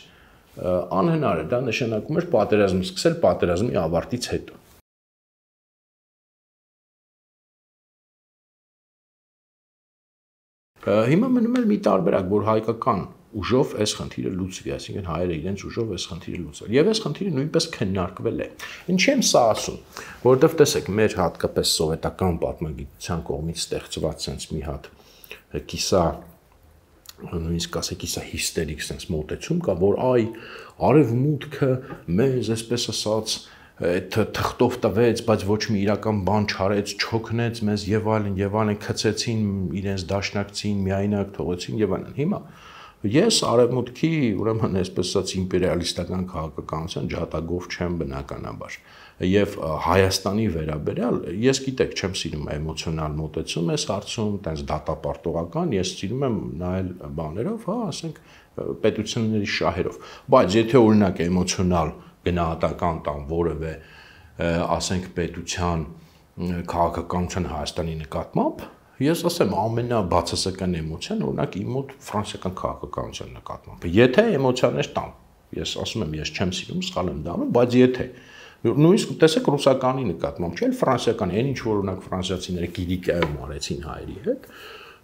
անհնար է, դա նշանակում էր պատերազմ սկսել պատերազմի ավարտից հետո։ Հիմա մնում է մի տարբերակ, որ հայկական ուժով այս խնդիրը լուծվի, այսինքն հայերը իրենց ուժով այս խնդիրը լուծել։ Եվ այս խնդիրը նույնպես քննարկվել է։ Ինչի եմ սա ասում, որովհետև տեսեք, մեր հատկապես սովետական պատմագիտության կողմից ստեղծված sense մի հատ կիսա նույնիսկ ասեք կիսա հիստերիկ sense մոտեցում կա, որ այ արևմուտքը մեզ, այսպես ասած, այդ թղթով տվեց, բայց ոչ մի իրական բան չարեց, չօգնեց մեզ եւ այլն քցեցին իրենց դաշնակցին, միայնակ թողեցին եւ այլն։ Հիմա ես արևմուտքի, ուրեմն այսպես ասած իմպերիալիստական քաղաքականության ջատագով չեմ բնականաբար։ Եվ Հայաստանի վերաբերյալ ես գիտեք չեմ սիրում էմոցիոնալ մոտեցում այս հարցում, տենց դատապարտողական, ես սիրում եմ նայել բաներով, հա, ասենք պետությունների շահերով։ Բայց եթե օրինակ էմոցիոնալ գնահատական տան որևէ ասենք պետության քաղաքականության Հայաստանի նկատմամբ, ես ասեմ ամենաբացասական էմոցիան օրինակ իմ մոտ ֆրանսիական քաղաքականության նկատմամբ։ Եթե էմոցիաներ տան, ես ասում եմ ես չեմ սիրում, սխալ եմ դառնում, բայց եթե նույնիսկ տեսեք ռուսականի նկատմամբ, չէ՞ ֆրանսիական, այն ինչ որ օրինակ ֆրանսիացիները Կիլիկիայում արեցին հայերի հետ,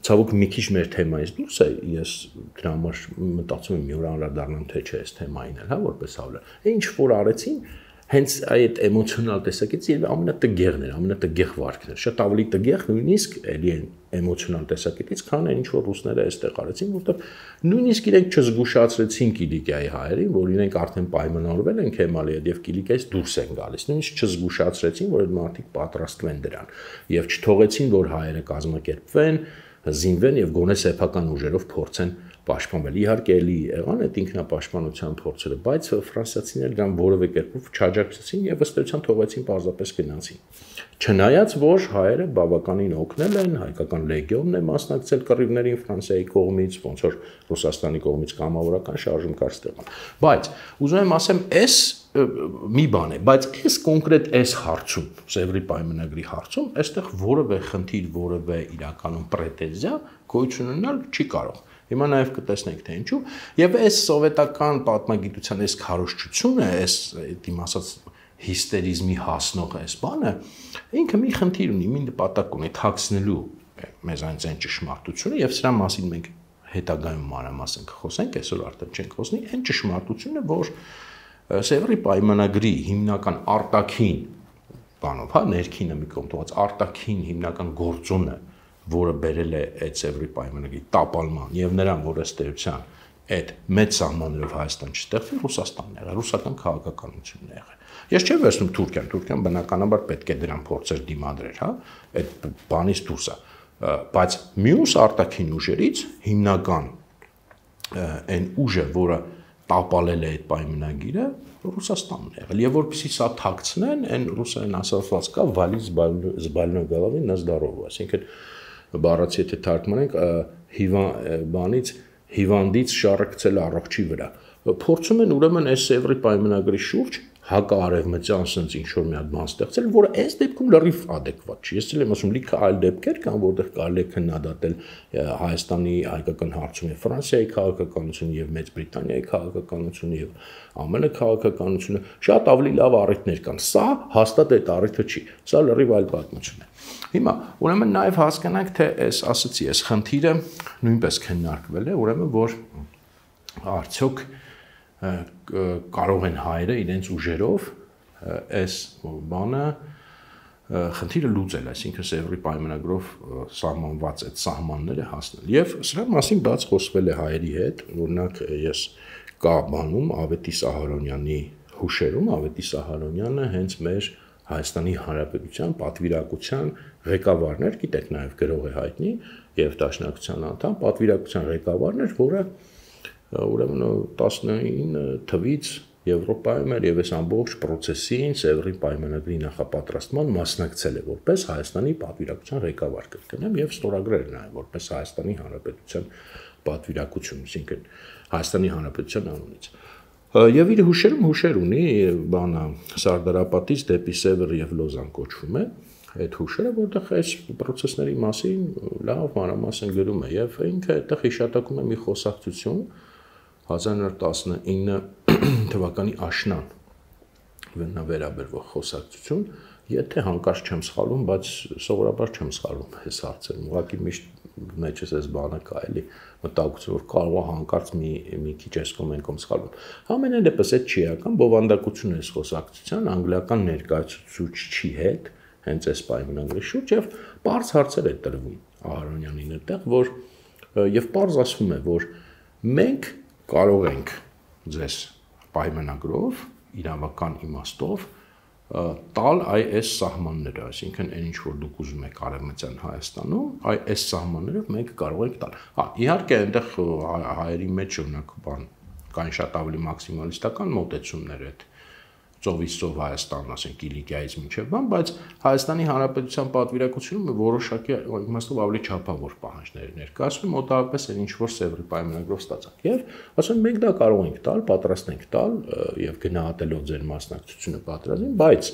ցավոք մի քիչ մեր թեմայից դուրս է, ես դրա համար մտածում եմ մի օր անդրադառնամ թե չէ այս թեմային էլ, հա, որպես հավելել։ Ինչ որ արեցին, հենց այդ էմոցիոնալ տեսակետից եւ ամենատգեղն էր, ամենատգեղ վարքն էր, շատ ավելի տգեղ նույնիսկ էլի են էմոցիոնալ տեսակետից, քան այն ինչ որ ռուսները այստեղ արեցին, որովհետեւ նույնիսկ իրենք չզգուշացրեցին Կիլիկիայի հայերին, որ իրենք արդեն պայմանավորվել են Քեմալի հետ եւ Կիլիկիայից դուրս են գալիս, նույնիսկ չզգուշացրեցին, որ այդ մարդիկ պատրաստվեն դրան եւ չթողեցին, որ հայերը կազմակերպվեն, զինվեն եւ գոնե սեփական ուժերով փորձեն պաշտպանվել։ Իհարկե էլի եղան այդ ինքնապաշտպանության փորձերը, բայց ֆրանսիացիները դրան որևէ կերպով չաջակցեցին եւ ըստ էության թողեցին պարզապես գնացին։ Չնայած որ հայերը բավականին օգնել են, հայկական լեգիոնն է մասնակցել կռիվներին Ֆրանսիայի կողմից, ոնց որ Ռուսաստանի կողմից կամավորական շարժում կար ստեղան։ Բայց ուզում եմ ասեմ, այս մի բան է, բայց այս կոնկրետ այս հարցում, Սևրի պայմանագրի հարցում, այստեղ որևէ խնդիր, որևէ իրականում պրետենզիա գոյություն ունենալ չի կարող։ Հիմա նաև կտեսնենք թե ինչու, եւ այս սովետական պատմագիտության այս քարոզչությունը, այս իմ ասած հիստերիզմի հասնող այս բանը, ինքը մի խնդիր ունի, մի նպատակ ունի թաքցնելու մեզանից այն ճշմարտությունը եւ սրա մասին մենք հետագայում մանրամասն կխոսենք, այսօր արդեն չենք խոսնի, այն ճշմարտությունը, որ Սևրի պայմանագրի հիմնական արտաքին բանով, հա, ներքինը մի կողմ թողած արտաքին հիմնական գործոնը, որը բերել է այդ Սևրի պայմանագրի տապալման եւ նրան, որ ըստ էության այդ մեծ սահմաններով Հայաստան չստեղծվի, Ռուսաստանն եղել, ռուսական քաղաքականությունն է եղել։ Ես չեմ վերցնում Թուրքիան բնականաբար պետք է դրան փորձեր դիմադրել, հա, այդ բանից դուրս է, բայց մյուս արտաքին ուժերից հիմնական այն ուժը, որը տապալել է այդ պայմանագիրը, Ռուսաստանն է եղել։ Եվ որպեսզի սա թաքցնեն, այն ռուսերեն ասած կա «Վալի զբալնո գալավի նա զդարովը», այսինքն բառացի եթե թարգմանենք բանից հիվանդից շառը գցել առողջի վրա։ Փորձում են ուրեմն այս Սևրի պայմանագրի շուրջ հակաարևմտյան sense ինչ որ մի հատ բան ստեղծել, որը այս դեպքում լրիվ adekvat չի։ Ես էլ եմ ասում, լիքը այլ դեպքեր կան, որտեղ կարելի է քննադատել Հայաստանի հայկական հարցում եւ Ֆրանսիայի քաղաքականությունը եւ Մեծ Բրիտանիայի քաղաքականությունը եւ ԱՄՆ քաղաքականությունը, շատ ավելի լավ առիթներ կան։ Սա հաստատ այդ առիթը չի։ Սա լրիվ այլ պատմություն է։ Հիմա ուրեմն նաեւ հասկանանք, թե այս ասացի, այս խնդիրը նույնպես քննարկվել է, ուրեմն որ արդյոք կարող են հայերը իրենց ուժերով այս բանը խնդիրը լուծել, այսինքն Սևրի պայմանագրով սահմանված այդ սահմանները հասնել։ Եվ սրա մասին բաց խոսվել է հայերի հետ, օրինակ ես կա բանում Ավետիս Ահարոնյանի հուշերում, Ավետիս Ահարոնյանը հենց մեր Հայաստանի Հանրապետության պատվիրակության ղեկավարն էր, գիտեք նաև գրող է հայտնի եւ դաշնակցության անդամ, պատվիրակության ղեկավարն էր, որը ուրեմն 19 թվից Եվրոպայում էր եւ այս ամբողջ process-ին Սևրի պայմանագրի նախապատրաստման մասնակցել է որպես Հայաստանի պատվիրակության ղեկավար կրկնեմ եւ ստորագրել նաեւ որպես Հայաստանի Հանրապետության պատվիրակություն, այսինքն Հայաստանի Հանրապետության անունից։ Եվ իր հուշերում հուշեր ունի, բանը Սարդարապատից դեպի Սևր եւ Լոզան կոչվում է այդ հուշերը, որտեղ այս process-ների մասին լավ մանրամասն գրում է եւ ինքը այդտեղ հիշատակում է մի խոսակցություն 1919 թվականի աշնան վերաբերվող խոսակցություն, Եթե հանկարծ չեմ սխալվում, բայց սովորաբար չեմ սխալվում այս հարցերում։ Ուղղակի միշտ մեջս էս բանը կա էլի մտահոգություն, որ կարող է հանկարծ մի քիչ այս կոմենտում սխալվում։ Ամենայն դեպս այդ չի ական բովանդակություն է խոսակցության անգլիական ներկայացուցչի հետ, հենց այս պայմանագրի շուրջ եւ բարձ հարցեր է տրվում Ահարոնյանին այդտեղ, որ եւ բարձ ասվում է, որ մենք կարող ենք ձեզ պայմանագրով իրավական իմաստով տալ այս սահմանները, այսինքն այն ինչ որ դուք ուզում եք Արևմտյան Հայաստանում, այս սահմաններով մենք կարող ենք տալ։ Հա, իհարկե այնտեղ հայերի մեջ օրինակ բան կային շատ ավելի մաքսիմալիստական մոտեցումներ այդ ծովից ծով Հայաստան, ասենք Կիլիկիայից մինչև բան, բայց Հայաստանի Հանրապետության պատվիրակությունում որոշակի իմաստով ավելի չափավոր պահանջներ ներկայացվում, մոտավորապես այն ինչ որ Սևրի պայմանագրով ստացանք։ Եվ ասում մենք դա կարող ենք տալ, պատրաստ ենք տալ եւ գնահատելով ձեր մասնակցությունը պատրաստին, բայց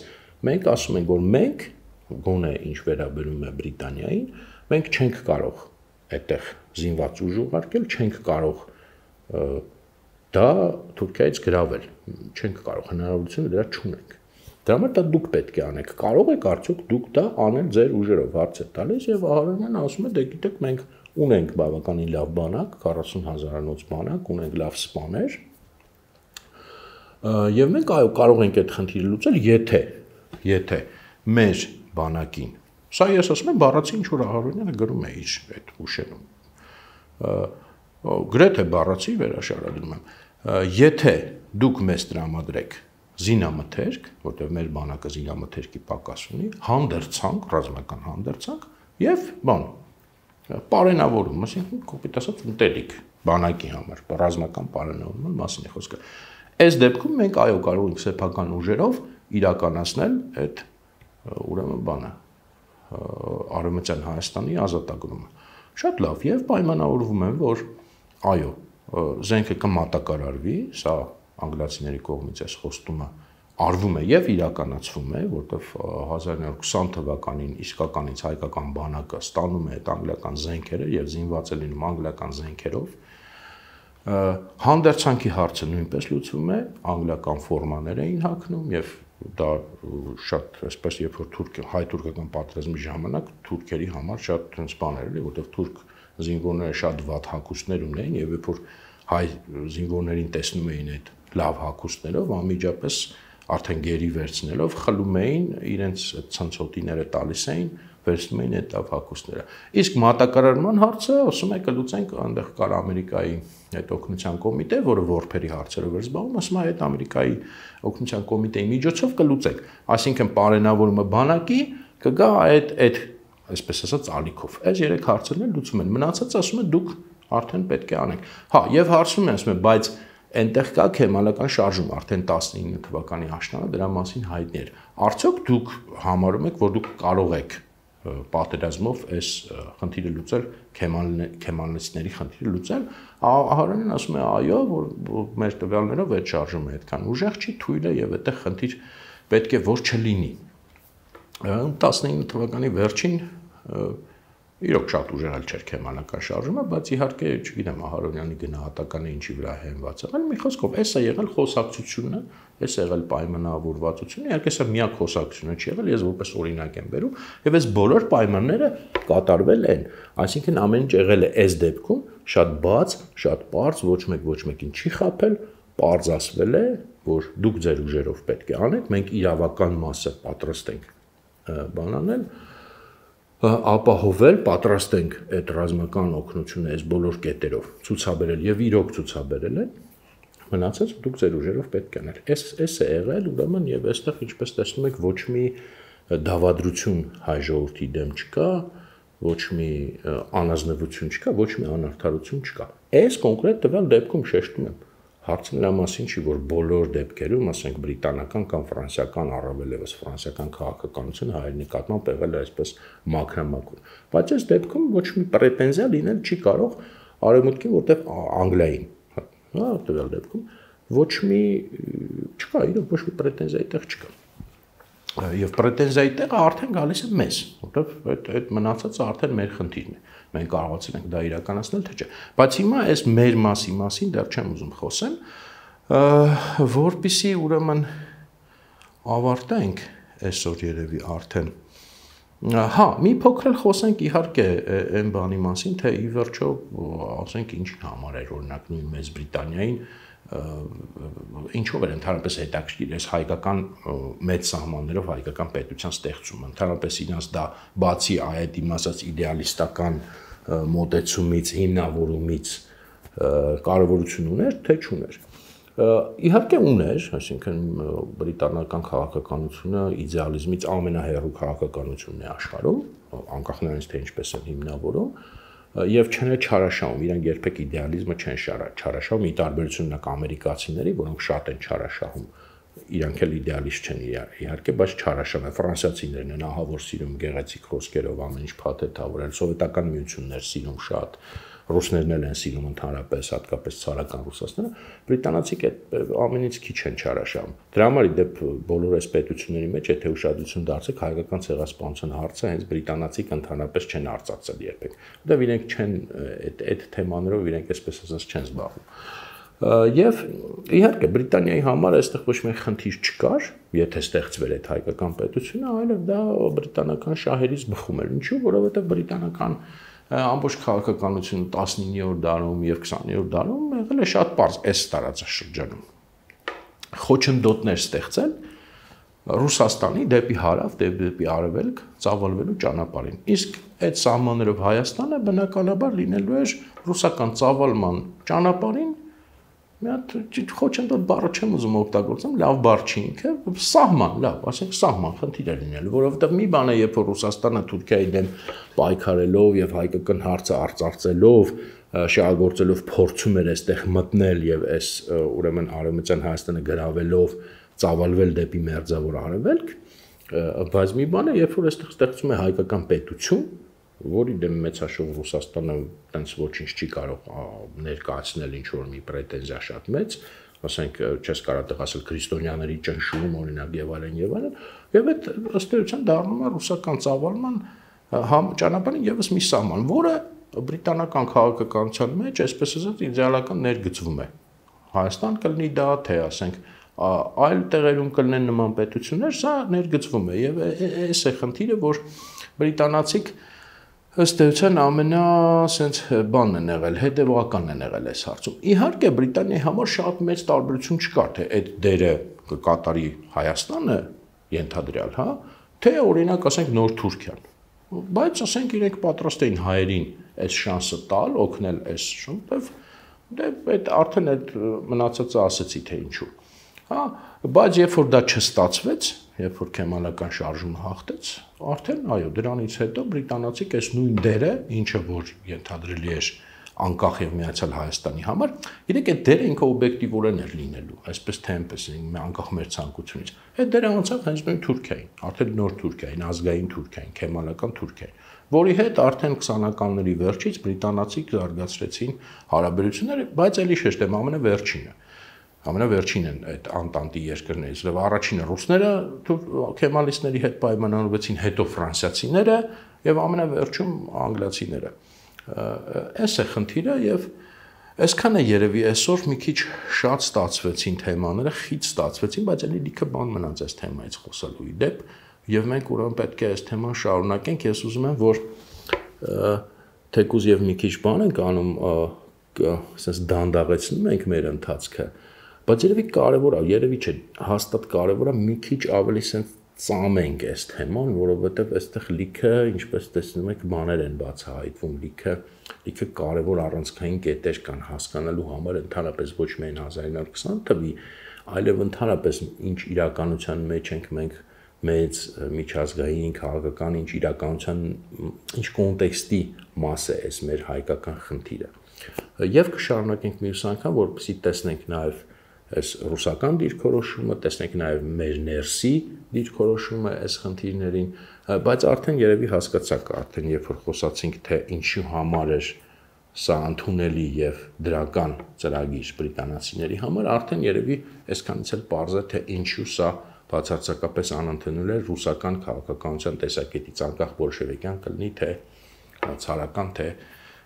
մենք ասում ենք, որ մենք գոնե ինչ վերաբերում է Բրիտանիային, մենք չենք կարող այդտեղ զինված ուժ ուղարկել, չենք կարող դա Թուրքիայից գրավել, չենք կարող, հնարավորությունը դրա չունենք։ Դրա համար դա դուք պետք է անեք։ Կարող եք արդյոք դուք դա անել ձեր ուժերով, հարց է տալիս եւ Ահարոնյանը ասում է, դե գիտեք, մենք ունենք բավականին լավ բանակ, 40,000-անոց բանակ, ունենք լավ սպաներ։ Եվ մենք այո կարող ենք այդ խնդիրը լուծել, եթե մեր բանակին, սա ես ասում եմ բառացի ինչ որ Ահարոնյանը գրում է իր այդ ուշերում։ Գրեթե բառացի վերաշարադրում եմ, եթե դուք մեզ տրամադրեք զինամթերք, որտեղ մեր բանակը զինամթերքի պակաս ունի, հանդերձանք, ռազմական հանդերձանք եւ բան, պարենավորում, այսինքն կոպիտ ասած ուտելիք բանակի համար, ռազմական պարենավորման մասին է խոսքը։ Այս դեպքում մենք այո կարող ենք սեփական ուժերով իրականացնել այդ ուրեմն բանը Արևմտյան Հայաստանի ազատագրումը։ Շատ լավ, եւ պայմանավորվում են, որ այո, զենքը կմատակարարվի, սա անգլիացիների կողմից այս խոստումը արվում է եւ իրականացվում է, որտեղ 1920 թվականին իսկականից հայկական բանակը ստանում է այդ անգլիական զենքերը եւ զինված է լինում անգլիական զենքերով։ Հանդերձանքի հարցը նույնպես լուծվում է, անգլիական ֆորմաներ էին հագնում եւ դա շատ այսպես երբ որ հայ-թուրքական պատերազմի ժամանակ թուրքերի համար շատ ցենց բաներ էլի, որտեղ թուրք զինվորները շատ վատ հագուստներ ունեին եւ երբ որ հայ զինվորներին տեսնում էին այդ լավ հագուստներով, անմիջապես արդեն գերի վերցնելով խլում էին իրենց ցնցոտիները տալիս էին, վերցնում էին այդ լավ հագուստները։ Իսկ մատակարարման հարցը, ասում է, կլուծենք, այնտեղ կար Ամերիկայի այդ օգնության կոմիտե, որը որբերի հարցերով էր զբաղվում, ասում է, այդ Ամերիկայի օգնության կոմիտեի միջոցով կլուծենք։ Այսինքն պարենավորումը բանակի կգա այդ այսպես ասած ալիքով։ Այս երեք հարցերն էլ լուծում են։ Մնացածը ասում է դուք արդեն պետք է անեք։ Հա, եւ հարցում են, ասում է, բայց այնտեղ կա քեմալական շարժում, արդեն 19 թվականի աշնանը դրա մասին հայտնի էր։ Արդյոք դուք համարում եք, որ դուք կարող եք պատերազմով այս խնդիրը լուծել, քեմալիստների խնդիրը լուծել։ Ահարոնյանն ասում է, այո, որ մեր տվյալներով այդ շարժումը այդքան ուժեղ չի, թույլ է եւ այդտեղ խնդիր պետք է որ չլինի։ 19 թվականի վերջին իրոք շատ ուժեղ չէր քեմալական շարժումը, բայց իհարկե, չգիտեմ, Ահարոնյանի գնահատականը ինչի վրա հենված է։ Այլ մի խոսքով, էս է եղել խոսակցությունը, էս է եղել պայմանավորվածությունը, իհարկե սա միակ խոսակցությունը չի եղել, ես որպես օրինակ եմ բերում, եւ այս բոլոր պայմանները կատարվել են։ Այսինքն ամեն ինչ եղել է այս դեպքում շատ բաց, շատ པարզ, ոչ մեկին չի խաբել, པարզ ասվել է, որ դուք ձեր ուժերով պետք է անեք, մենք իրավական մասը պատրաստ ենք բանանել ապահովել, պատրաստ ենք այդ ռազմական օգնությունը այս բոլոր կետերով ցուցաբերել եւ իրոք ցուցաբերել են, մնացած դուք ձեր ուժերով պետք է անել։ Էս է եղել, ուրեմն եւ այստեղ ինչպես տեսնում եք, ոչ մի դավադրություն հայ ժողովրդի դեմ չկա, ոչ մի անազնվություն չկա, ոչ մի անարդարություն չկա։ Այս կոնկրետ տվյալ դեպքում շեշտում եմ, հարցը նրա մասին չի, որ բոլոր դեպքերում, ասենք բրիտանական կամ ֆրանսիական, առավել ևս ֆրանսիական քաղաքականությունը հայերի նկատմամբ եղել է այսպես մաքրամաքուր։ Բայց այս դեպքում ոչ մի պրետենզիա լինել չի կարող արևմուտքին, որտեղ Անգլիային, հա, տվյալ դեպքում ոչ մի չկա, իրոք ոչ մի պրետենզիա այդտեղ չկա։ Եվ պրետենզիայի տեղը արդեն գալիս է մեզ, որտեղ այդ մնացածը արդեն մեր խնդիրն է։ Մենք կարողացել ենք դա իրականացնել, թե չէ։ Բայց հիմա այս մեր մասին դեռ չեմ ուզում խոսեմ, որպեսզի ուրեմն ավարտենք այսօր երևի արդեն հա, մի փոքր խոսենք իհարկե այն բանի մասին, թե ի վերջո, ասենք ինչի համար էր օրինակ նույն Մեծ Բրիտանիային ինչով էր ընդհանրապես հետաքրքիր այս հայկական մեծ սահմաններով հայկական պետության ստեղծումը, ընդհանրապես իրաց դա բացի այդ իմ ասած իդեալիստական մոտեցումից, հիմնավորումից կարևորություն ուներ, թե չուներ։ Իհարկե ուներ, այսինքն բրիտանական քաղաքականությունը իդեալիզմից ամենահեռու քաղաքականությունն է աշխարհում, անկախ նրանից թե ինչպես են հիմնավորում, եւ չեն չարաշահում, իրենք երբեք իդեալիզմը չեն չարաշահում, ի տարբերություն ունակ ամերիկացիների, որոնք շատ են չարաշահում, իրանք էլ իդեալիստ չեն իհարկե, բայց չարաշահում են, ֆրանսիացիներն են ահավոր սիրում գեղեցիկ խոսքերով ամեն ինչ փաթեթավորել, սովետական միություններ սիրում շատ, ռուսներն են սիրում ընդհանրապես, հատկապես ցարական ռուսաստանը, բրիտանացիք այդ ամենից քիչ են չարաշահում։ Դրա համար իդեպ բոլոր այս պետությունների մեջ, եթե ուշադրություն դարձեք, հայկական ցեղասպանության հարցը հենց բրիտանացիք ընդհանրապես չեն արծարծել երբեք։ Որտեղ իրենք չեն այդ թեմաներով իրենք այսպես ասած չեն զբաղվում։ Եվ իհարկե Բրիտանիայի համար այստեղ ոչ մի խնդիր չկար, եթե ստեղծվեր այդ հայկական պետությունը, այլև դա բրիտանական շահերից բխում էր։ Ինչու՞, որովհետև բրիտանական ամբողջ քաղաքականությունը 19-րդ դարում եւ 20-րդ դարում եղել է շատ པարզ այս տարածաշրջանում։ Խոչընդոտներ ստեղծել Ռուսաստանի դեպի հարավ, դեպի արևելք ծավալվելու ճանապարհին։ Իսկ այդ սահմաններով Հայաստանը բնականաբար լինելու էր ռուսական ծավալման ճանապարհին մի հատ խոչընդոտ բառը չեմ ուզում օգտագործեմ, լավ բառ չի ինքը, սահման, լավ, ասենք սահման խնդիր է լինելու, որովհետև մի բան է, երբ որ Ռուսաստանը Թուրքիայի դեմ պայքարելով եւ հայկական հարցը արծարծելով, շահագործելով փորձում էր այստեղ մտնել եւ այս ուրեմն Արևմտյան Հայաստանը գրավելով ծավալվել դեպի մերձավոր արևելք, բայց մի բան է, երբ որ այստեղ ստեղծում է հայկական պետություն, որի դեմ մեծաշող Ռուսաստանը տենց ոչինչ չի կարող ներկայացնել ինչ-որ մի պրետենզիա շատ մեծ, ասենք չես կարող տեղ ասել քրիստոնյաների ճնշում օրինակ եւ այլն, եւ այդ ըստ էության դառնում է ռուսական ծավալման ճանապարհին եւս մի սահման, որը բրիտանական քաղաքականության մեջ այսպես ասած իդեալական ներգծվում է։ Հայաստան կլինի դա, թե ասենք այլ տեղերում կլինեն նման պետություններ, սա ներգծվում է եւ այս է խնդիրը, որ բրիտանացիք ըստ էության ամենասենց բանն են եղել, հետևողականն են եղել այս հարցում։ Իհարկե Բրիտանիայի համար շատ մեծ տարբերություն չկար, թե այդ դերը կկատարի Հայաստանը ենթադրյալ, հա, թե օրինակ ասենք նոր Թուրքիան։ Բայց ասենք իրենք պատրաստ էին հայերին այս շանսը տալ, օգնել այս շնորհիվ, դե այդ արդեն այդ մնացածը ասեցի թե ինչու։ Հա, բայց երբ որ դա չստացվեց, երբ որ քեմալական շարժումը հաղթեց, արդեն այո, դրանից հետո բրիտանացիք այս նույն դերը, ինչը որ ենթադրելի էր անկախ եւ միացյալ Հայաստանի համար, իրենք այդ դերը ինքը օբյեկտիվորեն էր լինելու, այսպես թե այնպես անկախ մեր ցանկությունից։ Այդ դերը անցավ հենց նույն Թուրքիային, արդեն նոր Թուրքիային, ազգային Թուրքիային, քեմալական Թուրքիային, որի հետ արդեն 20-ականների վերջից բրիտանացիք զարգացրեցին հարաբերությունները, բայց էլի շեշտ եմ ամենավերջինը։ Ամենավերջին են այդ անտանտի երկրներից, եւ առաջինը ռուսները քեմալիստների հետ պայմանավորվեցին, հետո ֆրանսիացիները եւ ամենավերջում անգլիացիները։ Այս է խնդիրը եւ այսքան է երևի այսօր մի քիչ շատ ստացվեցին թեմաները, խիտ ստացվեցին, բայց ելի լիքը բան մնաց այս թեմայից խոսելու իդեպ եւ մենք ուրեմն պետք է այս թեման շարունակենք։ Ես ուզում եմ, որ թեկուզ եւ մի քիչ բան ենք անում, ասես դանդաղեցնում ենք մեր ընթացքը, բայց երևի կարևոր է, երևի չէ, հաստատ կարևոր է մի քիչ ավելի սենց ծամենք այս թեման, որովհետև այստեղ լիքը, ինչպես տեսնում եք, բաներ են բացահայտվում, լիքը կարևոր առանցքային կետեր կան հասկանալու համար, ընդհանրապես ոչ միայն 1920 թվի, այլև ընդհանրապես ինչ իրականության մեջ ենք մենք մեծ միջազգային քաղաքական ինչ իրականության ինչ կոնտեքստի մաս է այս մեր հայկական խնդիրը։ Եվ կշարունակենք մյուս անգամ, որպեսզի տեսնենք նաև այս ռուսական դիրքորոշումը, տեսնենք նաև մեր ներսի դիրքորոշումը այս խնդիրներին, բայց արդեն երևի հասկացաք, արդեն երբ որ խոսացինք, թե ինչու համար էր սա ընդունելի եւ դրական ծրագիր բրիտանացիների համար, արդեն երևի այսքանից էլ պարզ է, թե ինչու սա բացարձակապես անընդունել է ռուսական քաղաքականության տեսակետից, անկախ բոլշևիկյան կլինի, թե ցարական, թե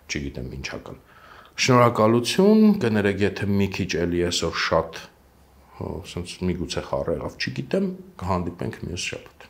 չգիտեմ ինչական։ Շնորհակալություն, կներեք, եթե մի քիչ էլի այսօր շատ ասենց միգուցե խառը եղավ, չգիտեմ, կհանդիպենք մյուս շաբաթ։